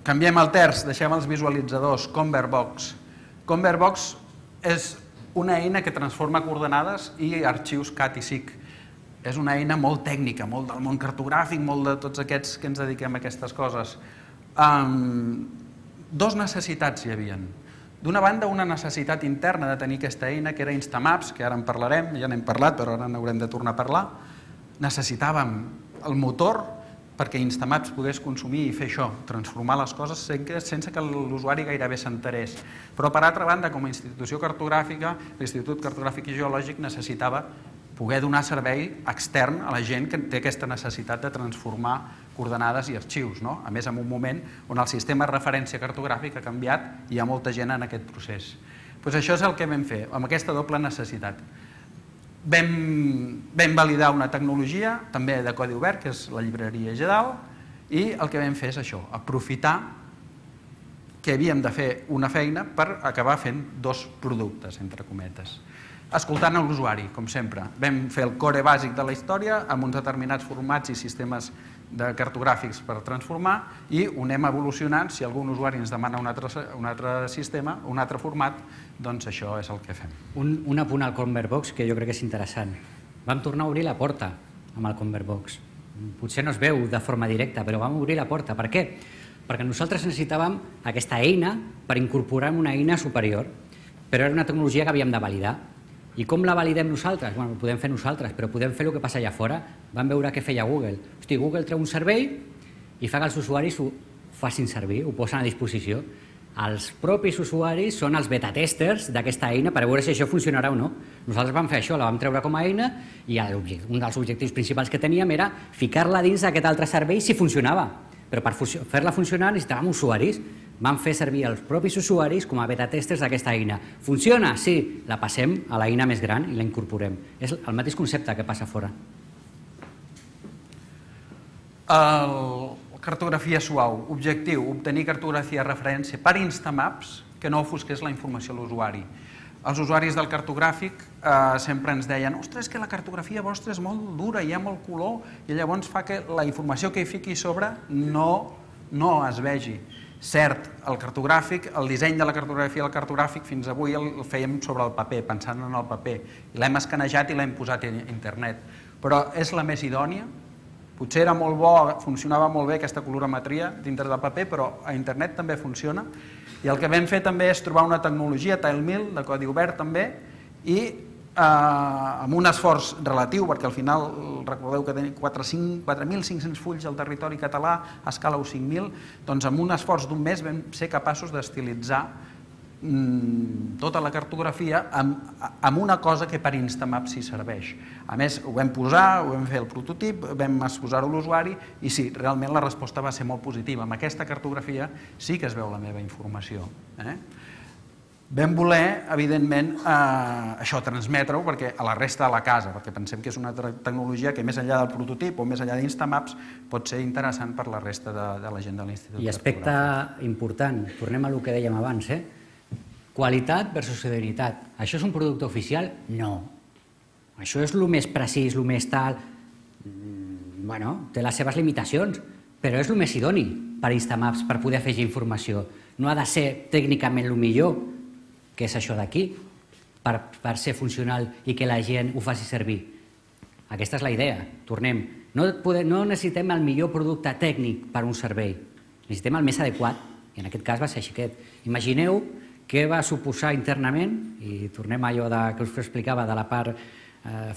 B: Canviem el terç, deixem els visualitzadors, Convertbox. Convertbox és una eina que transforma coordenades i arxius CAT i SIC. És una eina molt tècnica, molt del món cartogràfic, molt de tots aquests que ens dediquem a aquestes coses. Dos necessitats hi havia. D'una banda, una necessitat interna de tenir aquesta eina, que era Instamaps, que ara en parlarem, ja n'hem parlat, però ara n'haurem de tornar a parlar. Necessitàvem el motor perquè Instamaps pogués consumir i fer això, transformar les coses sense que l'usuari gairebé s'enterés. Però, per altra banda, com a institució cartogràfica, l'Institut Cartogràfic i Geològic necessitava poder donar servei extern a la gent que té aquesta necessitat de transformar coordenades i arxius. A més, en un moment on el sistema de referència cartogràfic ha canviat i hi ha molta gent en aquest procés. Això és el que vam fer, amb aquesta doble necessitat. Vam validar una tecnologia, també de codi obert, que és la llibreria GEDAL, i el que vam fer és això, aprofitar que havíem de fer una feina per acabar fent dos productes, entre cometes. Escoltant l'usuari, com sempre. Vam fer el core bàsic de la història amb uns determinats formats i sistemes de cartogràfics per transformar i ho anem evolucionant. Si algun usuari ens demana un altre sistema, un altre format, doncs això és el que fem.
A: Un apunt al Convertbox que jo crec que és interessant. Vam tornar a obrir la porta amb el Convertbox. Potser no es veu de forma directa, però vam obrir la porta. Per què? Perquè nosaltres necessitàvem aquesta eina per incorporar una eina superior, però era una tecnologia que havíem de validar. I com la validem nosaltres? Bueno, ho podem fer nosaltres, però podem fer el que passa allà fora. Vam veure què feia Google. Hosti, Google treu un servei i fa que els usuaris ho facin servir, ho posen a disposició. Els propis usuaris són els beta-testers d'aquesta eina per veure si això funcionarà o no. Nosaltres vam fer això, la vam treure com a eina i un dels objectius principals que teníem era ficar-la dins d'aquest altre servei si funcionava. Però per fer-la funcionar necessitàvem usuaris. Vam fer servir els propis usuaris com a beta-testers d'aquesta eina. Funciona? Sí. La passem a l'eina més gran i la incorporem. És el mateix concepte que passa fora.
B: Cartografia suau. Objectiu, obtenir cartografia de referència per Instamaps que no ofusqués la informació a l'usuari. Els usuaris del cartogràfic sempre ens deien ostres, que la cartografia vostra és molt dura, hi ha molt color, i llavors fa que la informació que hi fiqui a sobre no es vegi. Cert, el cartogràfic, el disseny de la cartografia del cartogràfic fins avui el fèiem sobre el paper, pensant en el paper, i l'hem escanejat i l'hem posat a internet. Però és la més idònia? Potser era molt bo, funcionava molt bé aquesta colorimetria dintre del paper, però a internet també funciona. I el que vam fer també és trobar una tecnologia, TileMill, de codi obert també, i amb un esforç relatiu, perquè al final recordeu que tenim 4.500 fulls al territori català, a escala 5.000, doncs amb un esforç d'un mes vam ser capaços d'estilitzar tota la cartografia amb una cosa que per Instamaps sí serveix. A més, ho vam posar, ho vam fer el prototip, vam exposar-ho a l'usuari i sí, realment la resposta va ser molt positiva. Amb aquesta cartografia sí que es veu la meva informació. Vam voler, evidentment, això, transmetre-ho a la resta de la casa, perquè pensem que és una tecnologia que més enllà del prototip o més enllà d'Instamaps pot ser interessant per la resta de la gent de l'Institut.
A: I aspecte important, tornem a el que dèiem abans, qualitat versus fidelitat. Això és un producte oficial? No. Això és el més precís, el més tal... Bueno, té les seves limitacions, però és el més idoni per Instamaps, per poder afegir informació. No ha de ser tècnicament el millor, que és això d'aquí, per ser funcional i que la gent ho faci servir. Aquesta és la idea. Tornem. No necessitem el millor producte tècnic per a un servei. Necessitem el més adequat, i en aquest cas va ser així aquest. Imagineu què va suposar internament, i tornem a allò que us explicava de la part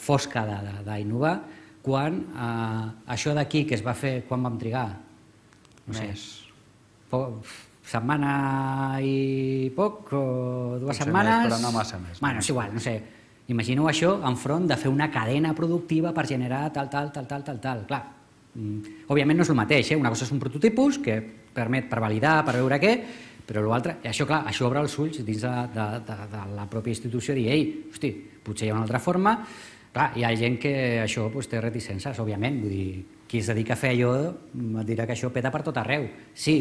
A: fosca d'innovar, quan això d'aquí que es va fer, quan vam trigar? No sé, setmana i poc, o 2 setmanes?
B: Però no massa més.
A: Bueno, és igual, no sé. Imagineu això enfront de fer una cadena productiva per generar tal. Clar, òbviament no és el mateix, una cosa és un prototipus que permet per validar, per veure què, però l'altre, això clar, això obre els ulls dins de la pròpia institució, dir, ei, hosti, potser hi ha una altra forma. Clar, hi ha gent que això té reticències, òbviament, vull dir, qui es dedica a fer allò et dirà que això peta per tot arreu. Sí,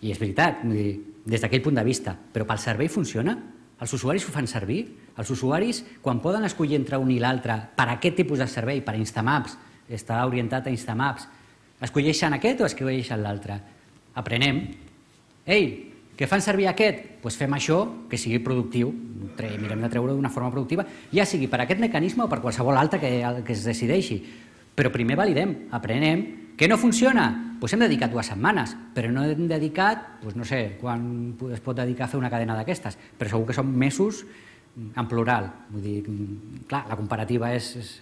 A: i és veritat, vull dir, des d'aquell punt de vista, però pel servei funciona? Els usuaris ho fan servir? Els usuaris, quan poden escollir entre un i l'altre per aquest tipus de servei, per Instamaps, està orientat a Instamaps, escolleixen aquest o escolleixen l'altre? Aprenem. Ei, que fan servir aquest? Doncs fem això que sigui productiu, mirem de treure-ho d'una forma productiva, ja sigui per aquest mecanisme o per qualsevol altre que es decideixi. Però primer validem, aprenem. Què no funciona? Doncs hem dedicat 2 setmanes, però no hem dedicat, no sé, quan es pot dedicar a fer una cadena d'aquestes, però segur que són mesos en plural. Vull dir, clar, la comparativa és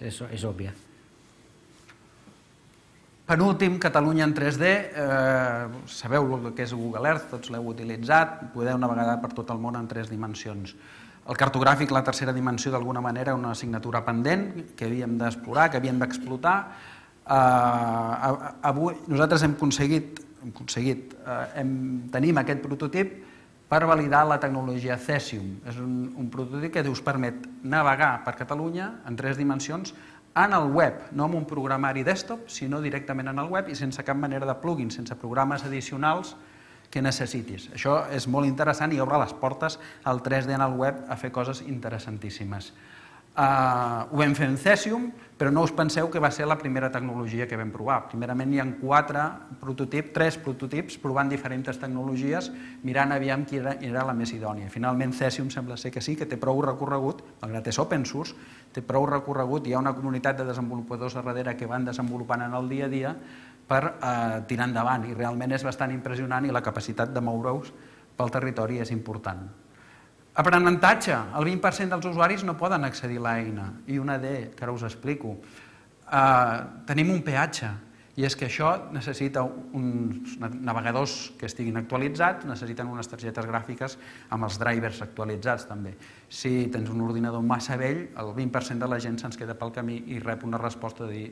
A: òbvia.
B: Penúltim, Catalunya en 3D. Sabeu el que és Google Earth, tots l'heu utilitzat, podeu navegar per tot el món en 3 dimensions. El cartogràfic, la tercera dimensió, d'alguna manera, una assignatura pendent que havíem d'explorar, que havíem d'explotar. Avui nosaltres tenim aquest prototip per validar la tecnologia Cesium. És un prototip que us permet navegar per Catalunya en 3 dimensions en el web, no en un programari desktop, sinó directament en el web i sense cap manera de plugin, sense programes addicionals que necessitis. Això és molt interessant i obre les portes al 3D en el web a fer coses interessantíssimes. Ho vam fer en Cesium, però no us penseu que va ser la primera tecnologia que vam provar. Primerament hi ha 3 prototips provant diferents tecnologies, mirant aviam quina era la més idònia. Finalment Cesium sembla ser que sí, que té prou recorregut, malgrat és open source, té prou recorregut, hi ha una comunitat de desenvolupadors a darrere que van desenvolupant en el dia a dia per tirar endavant, i realment és bastant impressionant i la capacitat de moure-us pel territori és important. Aprenentatge. El 20% dels usuaris no poden accedir a l'eina. I una D, que ara us explico. Tenim un peatge, i és que això necessita uns navegadors que estiguin actualitzats, necessiten unes targetes gràfiques amb els drivers actualitzats també. Si tens un ordinador massa vell, el 20% de la gent se'ns queda pel camí i rep una resposta de dir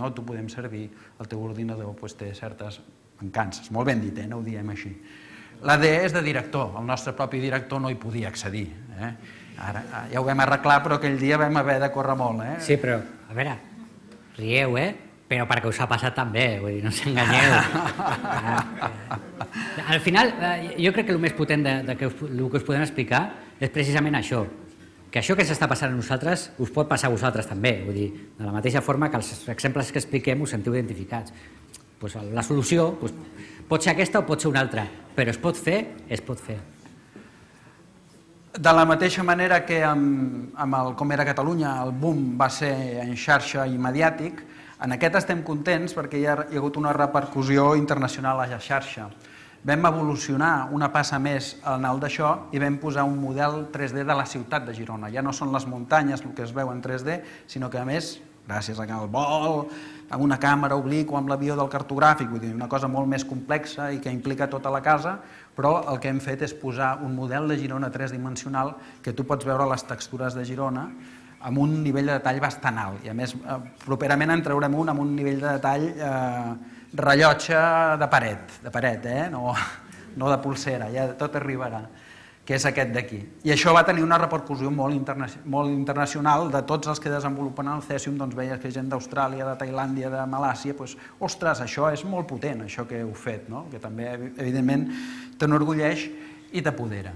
B: no t'ho podem servir, el teu ordinador té certes mancances. Molt ben dit, no ho diem així. La D és de director, el nostre propi director no hi podia accedir. Ara ja ho vam arreglar, però aquell dia vam haver de córrer molt.
A: Sí, però, a veure, rieu, però perquè us ha passat també, vull dir, no us enganyeu. Al final, jo crec que el més potent del que us podem explicar és precisament això, que això que s'està passant a nosaltres us pot passar a vosaltres també, vull dir, de la mateixa forma que els exemples que expliquem us sentiu identificats. La solució pot ser aquesta o pot ser una altra, però es pot fer, es pot fer.
B: De la mateixa manera que amb el Com era Catalunya el boom va ser en xarxa i mediàtic, en aquest estem contents perquè hi ha hagut una repercussió internacional a la xarxa. Vam evolucionar una passa més en el d'això i vam posar un model 3D de la ciutat de Girona. Ja no són les muntanyes el que es veu en 3D, sinó que a més, gràcies al vol, amb una càmera obliqua, amb l'avió del cartogràfic, vull dir, una cosa molt més complexa i que implica tota la casa, però el que hem fet és posar un model de Girona tridimensional que tu pots veure les textures de Girona amb un nivell de detall bastant alt. I a més, properament en traurem un amb un nivell de detall rellotge de paret, no de pulsera, ja tot arribarà, que és aquest d'aquí. I això va tenir una repercussió molt internacional de tots els que desenvolupen el Cesium, doncs veies que gent d'Austràlia, de Tailàndia, de Malàsia, doncs, ostres, això és molt potent, això que heu fet, que també, evidentment, t'enorgulleix i t'apodera.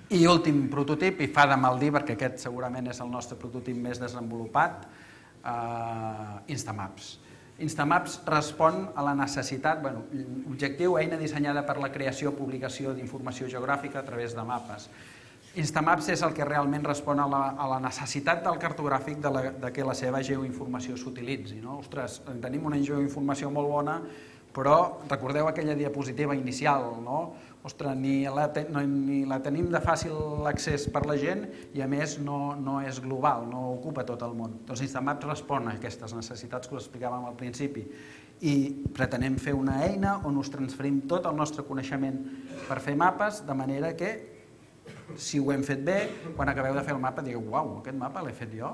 B: I últim prototip, i fa de mal dir, perquè aquest segurament és el nostre prototip més desenvolupat, Instamaps. Instamaps respon a la necessitat, objectiu, eina dissenyada per la creació o publicació d'informació geogràfica a través de mapes. Instamaps és el que realment respon a la necessitat del cartogràfic de que la seva geoinformació s'utilitzi. Ostres, tenim una geoinformació molt bona, però recordeu aquella diapositiva inicial, no? Ostres, ni la tenim de fàcil accés per la gent i a més no és global, no ocupa tot el món. Doncs Instamaps respon a aquestes necessitats que us explicàvem al principi i pretenem fer una eina on us transferim tot el nostre coneixement per fer mapes, de manera que si ho hem fet bé, quan acabeu de fer el mapa digueu, uau, aquest mapa l'he fet jo,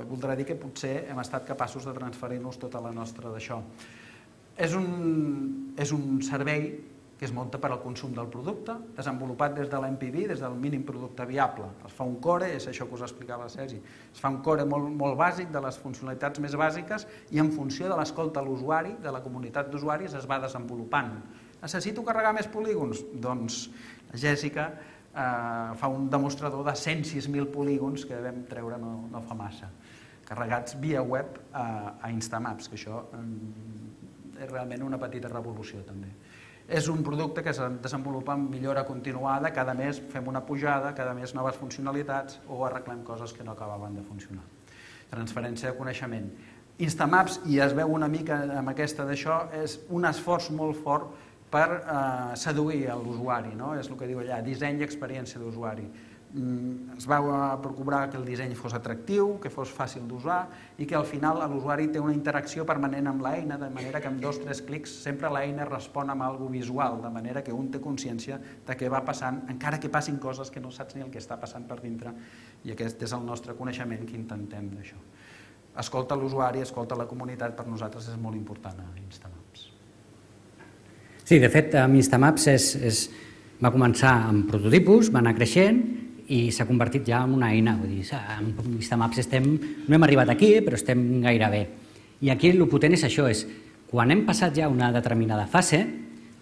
B: voldrà dir que potser hem estat capaços de transferir-nos tota la nostra d'això. És un servei que es munta per al consum del producte, desenvolupat des de l'MPV, des del mínim producte viable. Es fa un core, és això que us explicava el Sergi, es fa un core molt bàsic de les funcionalitats més bàsiques i en funció de l'escolta a l'usuari, de la comunitat d'usuaris, es va desenvolupant. Necessito carregar més polígons? Doncs la Jèssica fa un demostrador de 106.000 polígons que vam treure no fa massa, carregats via web a Instamaps, que això és realment una petita revolució també. És un producte que es desenvolupa amb millora continuada, cada mes fem una pujada, cada mes noves funcionalitats o arreglem coses que no acabaven de funcionar. Transferència de coneixement. Instamaps, i es veu una mica amb aquesta d'això, és un esforç molt fort per seduir l'usuari, és el que diu allà, disseny i experiència d'usuari. Es va procurar que el disseny fos atractiu, que fos fàcil d'usar i que al final l'usuari té una interacció permanent amb l'eina, de manera que amb 2 o 3 clics sempre l'eina respon amb alguna cosa visual, de manera que un té consciència de què va passant, encara que passin coses que no saps ni el que està passant per dintre, i aquest és el nostre coneixement que intentem d'això. Escolta l'usuari, escolta la comunitat, per nosaltres és molt important a Instamaps.
A: Sí, de fet, amb Instamaps va començar amb prototipus, va anar creixent i s'ha convertit ja en una eina. Vull dir, amb Instamaps no hem arribat aquí, però estem gairebé. I aquí el potent és això, quan hem passat ja una determinada fase,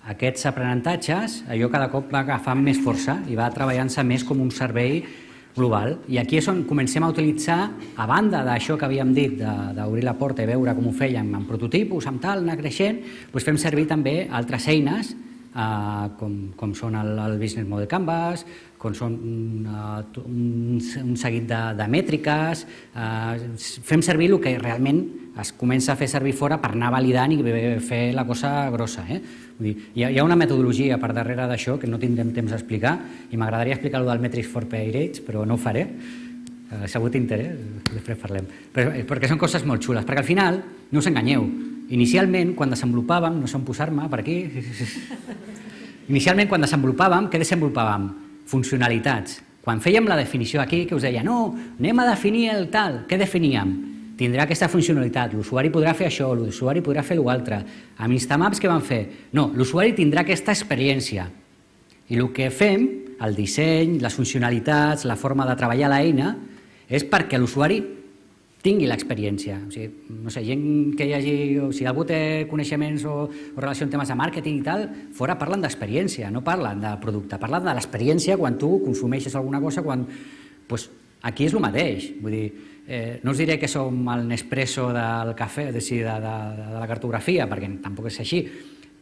A: aquests aprenentatges, allò cada cop va agafant més força i va treballant-se més com un servei global. I aquí és on comencem a utilitzar, a banda d'això que havíem dit, d'obrir la porta i veure com ho fèiem amb prototipus, amb tal, anar creixent, doncs fem servir també altres eines, com són el Business Model Canvas, com són un seguit de mètriques, fem servir el que realment es comença a fer servir fora per anar validant i fer la cosa grossa. Vull dir, hi ha una metodologia per darrere d'això que no tindrem temps d'explicar i m'agradaria explicar el del Metrics for Pirates, però no ho faré. Segur t'interès, després parlem. Perquè són coses molt xules, perquè al final, no us enganyeu, inicialment, quan desenvolupàvem, no sé on posar-me, per aquí, inicialment, quan desenvolupàvem, què desenvolupàvem? Funcionalitats. Quan fèiem la definició aquí, que us deia, no, anem a definir el tal, què definíem? Tindrà aquesta funcionalitat, l'usuari podrà fer això, l'usuari podrà fer l'altre. Amb Instamaps què vam fer? No, l'usuari tindrà aquesta experiència. I el que fem, el disseny, les funcionalitats, la forma de treballar l'eina, és perquè l'usuari tingui l'experiència. O sigui, no sé, gent que hi hagi... Si algú té coneixements o relació amb temes de màrqueting i tal, fora parlen d'experiència, no parlen de producte, parlen de l'experiència quan tu consumeixes alguna cosa, quan... Aquí és el mateix. Vull dir, no us diré que som el Nespresso del cafè, de la cartografia, perquè tampoc és així,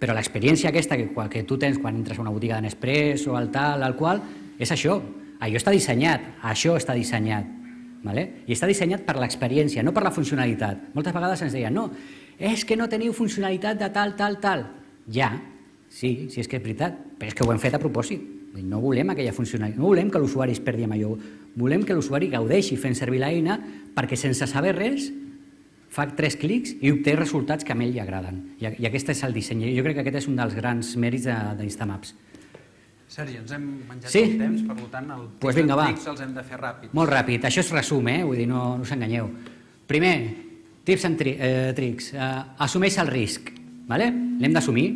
A: però l'experiència aquesta que tu tens quan entres a una botiga de Nespresso, el tal, el qual, és això. Allò està dissenyat, això està dissenyat. I està dissenyat per l'experiència, no per la funcionalitat. Moltes vegades ens deien, no, és que no teniu funcionalitat de tal, tal, tal. Ja, sí, és que és veritat, però és que ho hem fet a propòsit. No volem aquella funcionalitat, no volem que l'usuari es perdi amb allò, volem que l'usuari gaudeixi fent servir l'eina perquè sense saber res fa 3 clics i obté resultats que a ell li agraden. I aquest és el disseny. Jo crec que aquest és un dels grans mèrits d'Instamaps.
B: Sergi, ens hem menjat el temps, per tant, els tips els hem de fer ràpids.
A: Molt ràpid, això és resum, vull dir, no us enganyeu. Primer, tips and tricks. Assumeix el risc, l'hem d'assumir.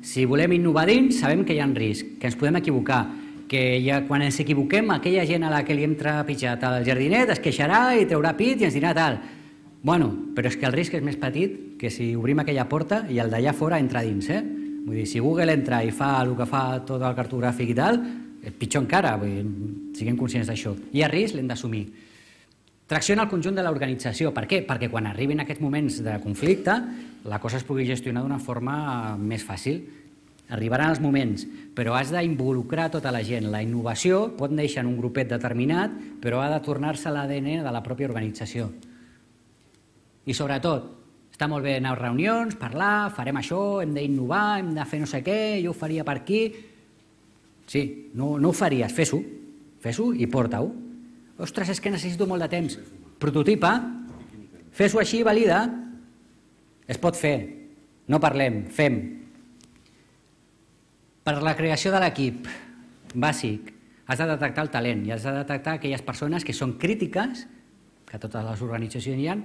A: Si volem innovar dins, sabem que hi ha risc, que ens podem equivocar, que quan ens equivoquem, aquella gent a la que li hem trepitjat el jardinet es queixarà i traurà pit i ens dirà tal. Bueno, però és que el risc és més petit que si obrim aquella porta i el d'allà fora entra dins, Vull dir, si Google entra i fa el que fa tot el cartogràfic i tal, pitjor encara, siguem conscients d'això. Hi ha risc, l'hem d'assumir. Tracciona el conjunt de l'organització. Per què? Perquè quan arribin aquests moments de conflicte, la cosa es pugui gestionar d'una forma més fàcil. Arribaran els moments, però has d'involucrar tota la gent. La innovació pot néixer en un grupet determinat, però ha de tornar-se a l'ADN de la pròpia organització. I sobretot, està molt bé anar a reunions, parlar, farem això, hem d'innovar, hem de fer no sé què, jo ho faria per aquí. Sí, no ho faries, fes-ho i porta-ho. Ostres, és que necessito molt de temps. Prototipa, fes-ho així, valida. Es pot fer, no parlem, fem. Per la creació de l'equip, bàsic, has de detectar el talent i has de detectar aquelles persones que són crítiques, que a totes les organitzacions hi ha,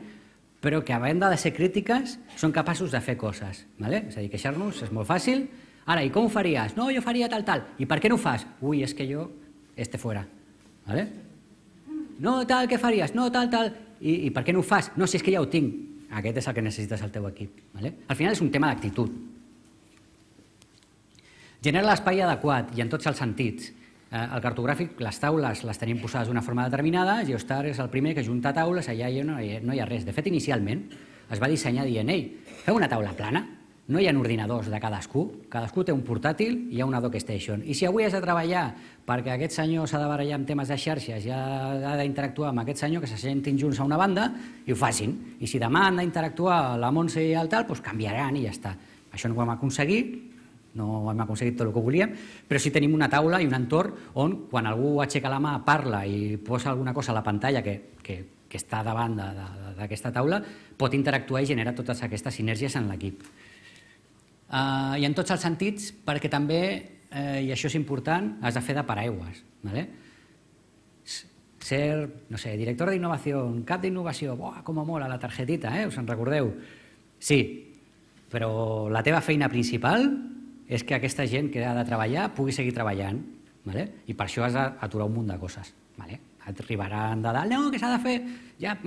A: però que a banda de ser crítiques són capaços de fer coses. És a dir, queixar-nos és molt fàcil. Ara, i com ho faries? No, jo faria tal, tal. I per què no ho fas? Ui, és que jo estic fora. No, tal, què faries? No, tal, tal. I per què no ho fas? No, si és que ja ho tinc. Aquest és el que necessites al teu equip. Al final és un tema d'actitud. Genera l'espai adequat i en tots els sentits. El cartogràfic, les taules les tenim posades d'una forma determinada, Geostar és el primer que junta taules, allà no hi ha res. De fet, inicialment es va dissenyar dient, feu una taula plana, no hi ha ordinadors de cadascú té un portàtil i hi ha una dockstation. I si avui has de treballar perquè aquest senyor s'ha de barallar amb temes de xarxes i ha d'interactuar amb aquest senyor, que se sentin junts a una banda i ho facin. I si demà han d'interactuar la Montse i el tal, doncs canviaran i ja està. Això no ho hem aconseguit, no hem aconseguit tot el que volíem, però sí tenim una taula i un entorn on quan algú aixeca la mà, parla i posa alguna cosa a la pantalla que està davant d'aquesta taula, pot interactuar i generar totes aquestes sinergies en l'equip. I en tots els sentits, perquè també, i això és important, has de fer de paraigües. Ser, no sé, director d'innovació, cap d'innovació, com mola la targetita, us en recordeu? Sí, però la teva feina principal és que aquesta gent que ha de treballar pugui seguir treballant, i per això has d'aturar un munt de coses. Arribaran de dalt, no, què s'ha de fer? Ja,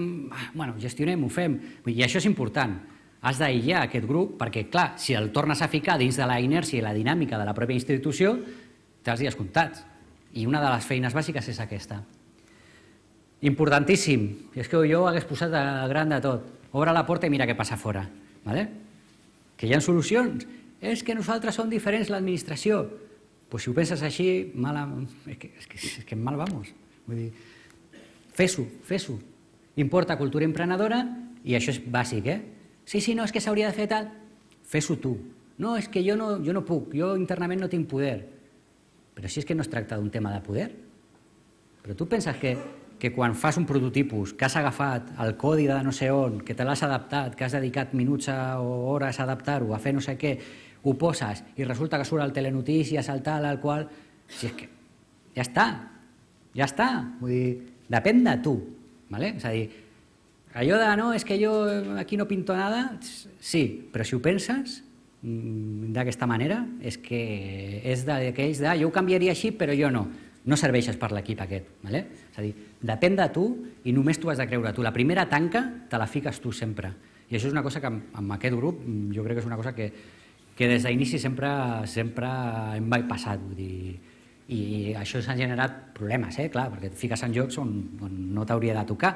A: gestionem, ho fem. I això és important. Has d'aïllar aquest grup perquè, clar, si el tornes a ficar dins de la inèrcia i la dinàmica de la pròpia institució, té els dies comptats. I una de les feines bàsiques és aquesta. Importantíssim, és que jo ho hagués posat al gran de tot. Obre la porta i mira què passa fora. Que hi ha solucions. És que nosaltres som diferents, l'administració. Pues si ho penses així, és que mal vamos. Vull dir, fes-ho. Importa cultura emprenedora, i això és bàsic, Sí, no, és que s'hauria de fer tal. Fes-ho tu. No, és que jo no puc, jo internament no tinc poder. Però si és que no es tracta d'un tema de poder. Però tu penses que quan fas un prototipus, que has agafat el codi de no sé on, que te l'has adaptat, que has dedicat minuts o hores a adaptar-ho, a fer no sé què, ho poses i resulta que surt al Telenotícies, al tal, al qual... Si és que ja està. Vull dir, depèn de tu. És a dir, allò de no, és que jo aquí no pinto nada, sí, però si ho penses d'aquesta manera, és que és d'aquells de jo ho canviaria així, però jo no. No serveixes per l'equip aquest. És a dir, depèn de tu i només tu has de creure tu. La primera tanca te la fiques tu sempre. I això és una cosa que amb aquest grup jo crec que és una cosa que des d'inici sempre hem bypassat. I això s'ha generat problemes, clar, perquè et fiques en jocs on no t'hauria de tocar.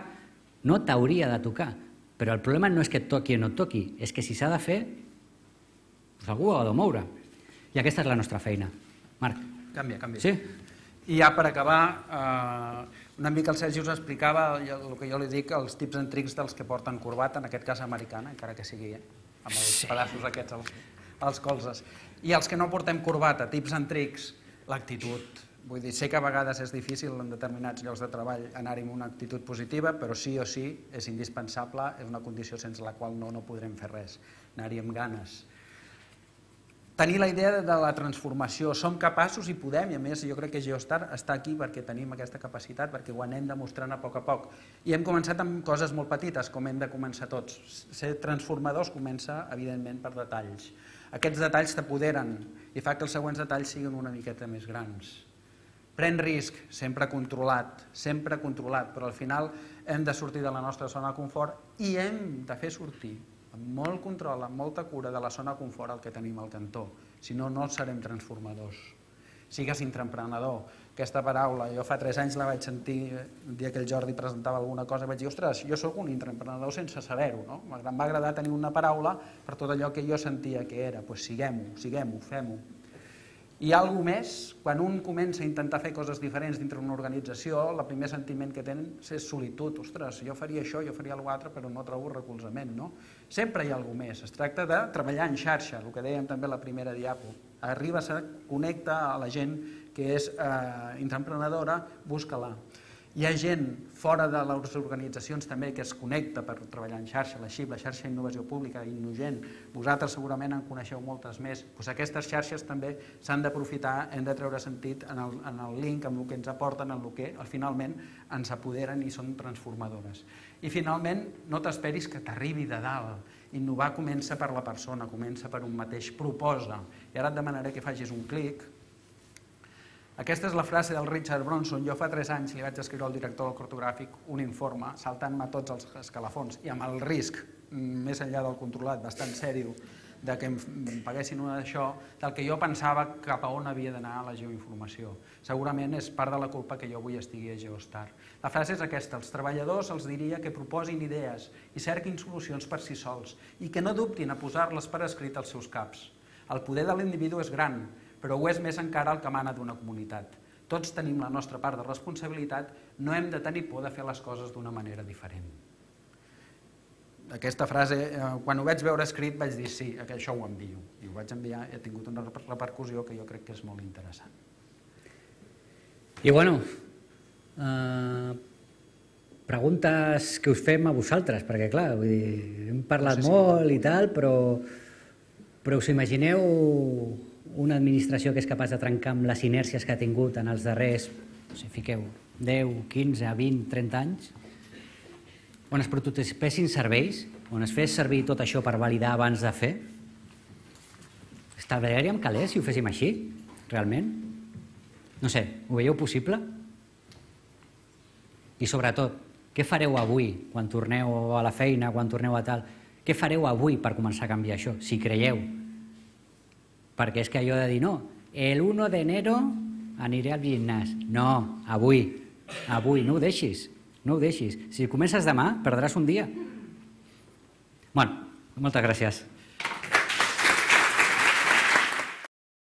A: No t'hauria de tocar. Però el problema no és que et toqui o no et toqui, és que si s'ha de fer, algú ho ha de moure. I aquesta és la nostra feina. Marc.
B: Canvia.
A: Sí?
B: I ja per acabar, una mica el Sergi us explicava el que jo li dic, els tips and tricks dels que porten corbata, en aquest cas americana, encara que sigui amb els pedaços aquests als colzes. I els que no portem corbata, tips and tricks, l'actitud. Vull dir, sé que a vegades és difícil en determinats llocs de treball anar-hi amb una actitud positiva, però sí o sí és indispensable, és una condició sense la qual no podrem fer res, anar-hi amb ganes. Tenir la idea de la transformació, som capaços i podem, i a més jo crec que Geostar està aquí perquè tenim aquesta capacitat, perquè ho anem demostrant a poc. I hem començat amb coses molt petites, com hem de començar tots. Ser transformadors comença, evidentment, per detalls. Aquests detalls t'apoderen i fa que els següents detalls siguin una miqueta més grans. Pren risc, sempre controlat, però al final hem de sortir de la nostra zona de confort i hem de fer sortir amb molt control, amb molta cura de la zona de confort el que tenim al cantó. Si no, no serem transformadors. Sigues intraemprenedor. Aquesta paraula, jo fa 3 anys la vaig sentir el dia que el Jordi presentava alguna cosa i vaig dir, ostres, jo sóc un intraemprenedor sense saber-ho, no? Em va agradar tenir una paraula per tot allò que jo sentia que era. Doncs siguem-ho, fem-ho. I alguna més, quan un comença a intentar fer coses diferents dintre d'una organització, el primer sentiment que tenen és solitud. Ostres, jo faria això, jo faria alguna altra, però no trobo recolzament, no? Sempre hi ha alguna més. Es tracta de treballar en xarxa, el que dèiem també a la primera diapo. Arribes a connectar a la gent que és intraemprenedora, busca-la. Hi ha gent fora de les organitzacions també que es connecta per treballar en xarxa, la XIP, la xarxa d'Innovació Pública, Innogent. Vosaltres segurament en coneixeu moltes més. Aquestes xarxes també s'han d'aprofitar, hem de treure sentit en el link, en el que ens aporten, en el que finalment ens apoderen i són transformadores. I finalment, no t'esperis que t'arribi de dalt. Innovar comença per la persona, comença per un mateix, proposa. I ara et demanaré que facis un clic. Aquesta és la frase del Richard Bronson. Jo fa 3 anys li vaig escriure al director del cartogràfic un informe saltant-me tots els escalafons i amb el risc, més enllà del controlat, bastant sèrio, de que em paguessin una d'això, del que jo pensava cap a on havia d'anar la geoinformació. Segurament és part de la culpa que jo avui estigui a Geostar. La frase és aquesta: els treballadors els diria que proposin idees i cerquin solucions per si sols i que no dubtin a posar-les per escrit als seus caps. El poder de l'individu és gran, però ho és més encara el que emana d'una comunitat. Tots tenim la nostra part de responsabilitat, no hem de tenir por de fer les coses d'una manera diferent. Aquesta frase, quan ho vaig veure escrit, vaig dir sí, això ho envio. I ho vaig enviar i ha tingut una repercussió que jo crec que és molt interessant.
A: I bueno, preguntes que us fem a vosaltres, perquè clar, hem parlat molt i tal, però us imagineu una administració que és capaç de trencar amb les inèrcies que ha tingut en els darrers, no sé, fiqueu, 10, 15, 20, 30 anys, on es prototipessin serveis, on es fes servir tot això per validar abans de fer? Estalviaríem calés si ho féssim així, realment? No sé, ho veieu possible? I sobretot, què fareu avui, quan torneu a la feina, quan torneu a tal? Què fareu avui per començar a canviar això, si creieu? Perquè és que allò de dir, no, el 1 d'enero aniré al gimnàs. No, avui, no ho deixis. No ho deixis. Si comences demà, perdràs un dia. Bueno, moltes gràcies.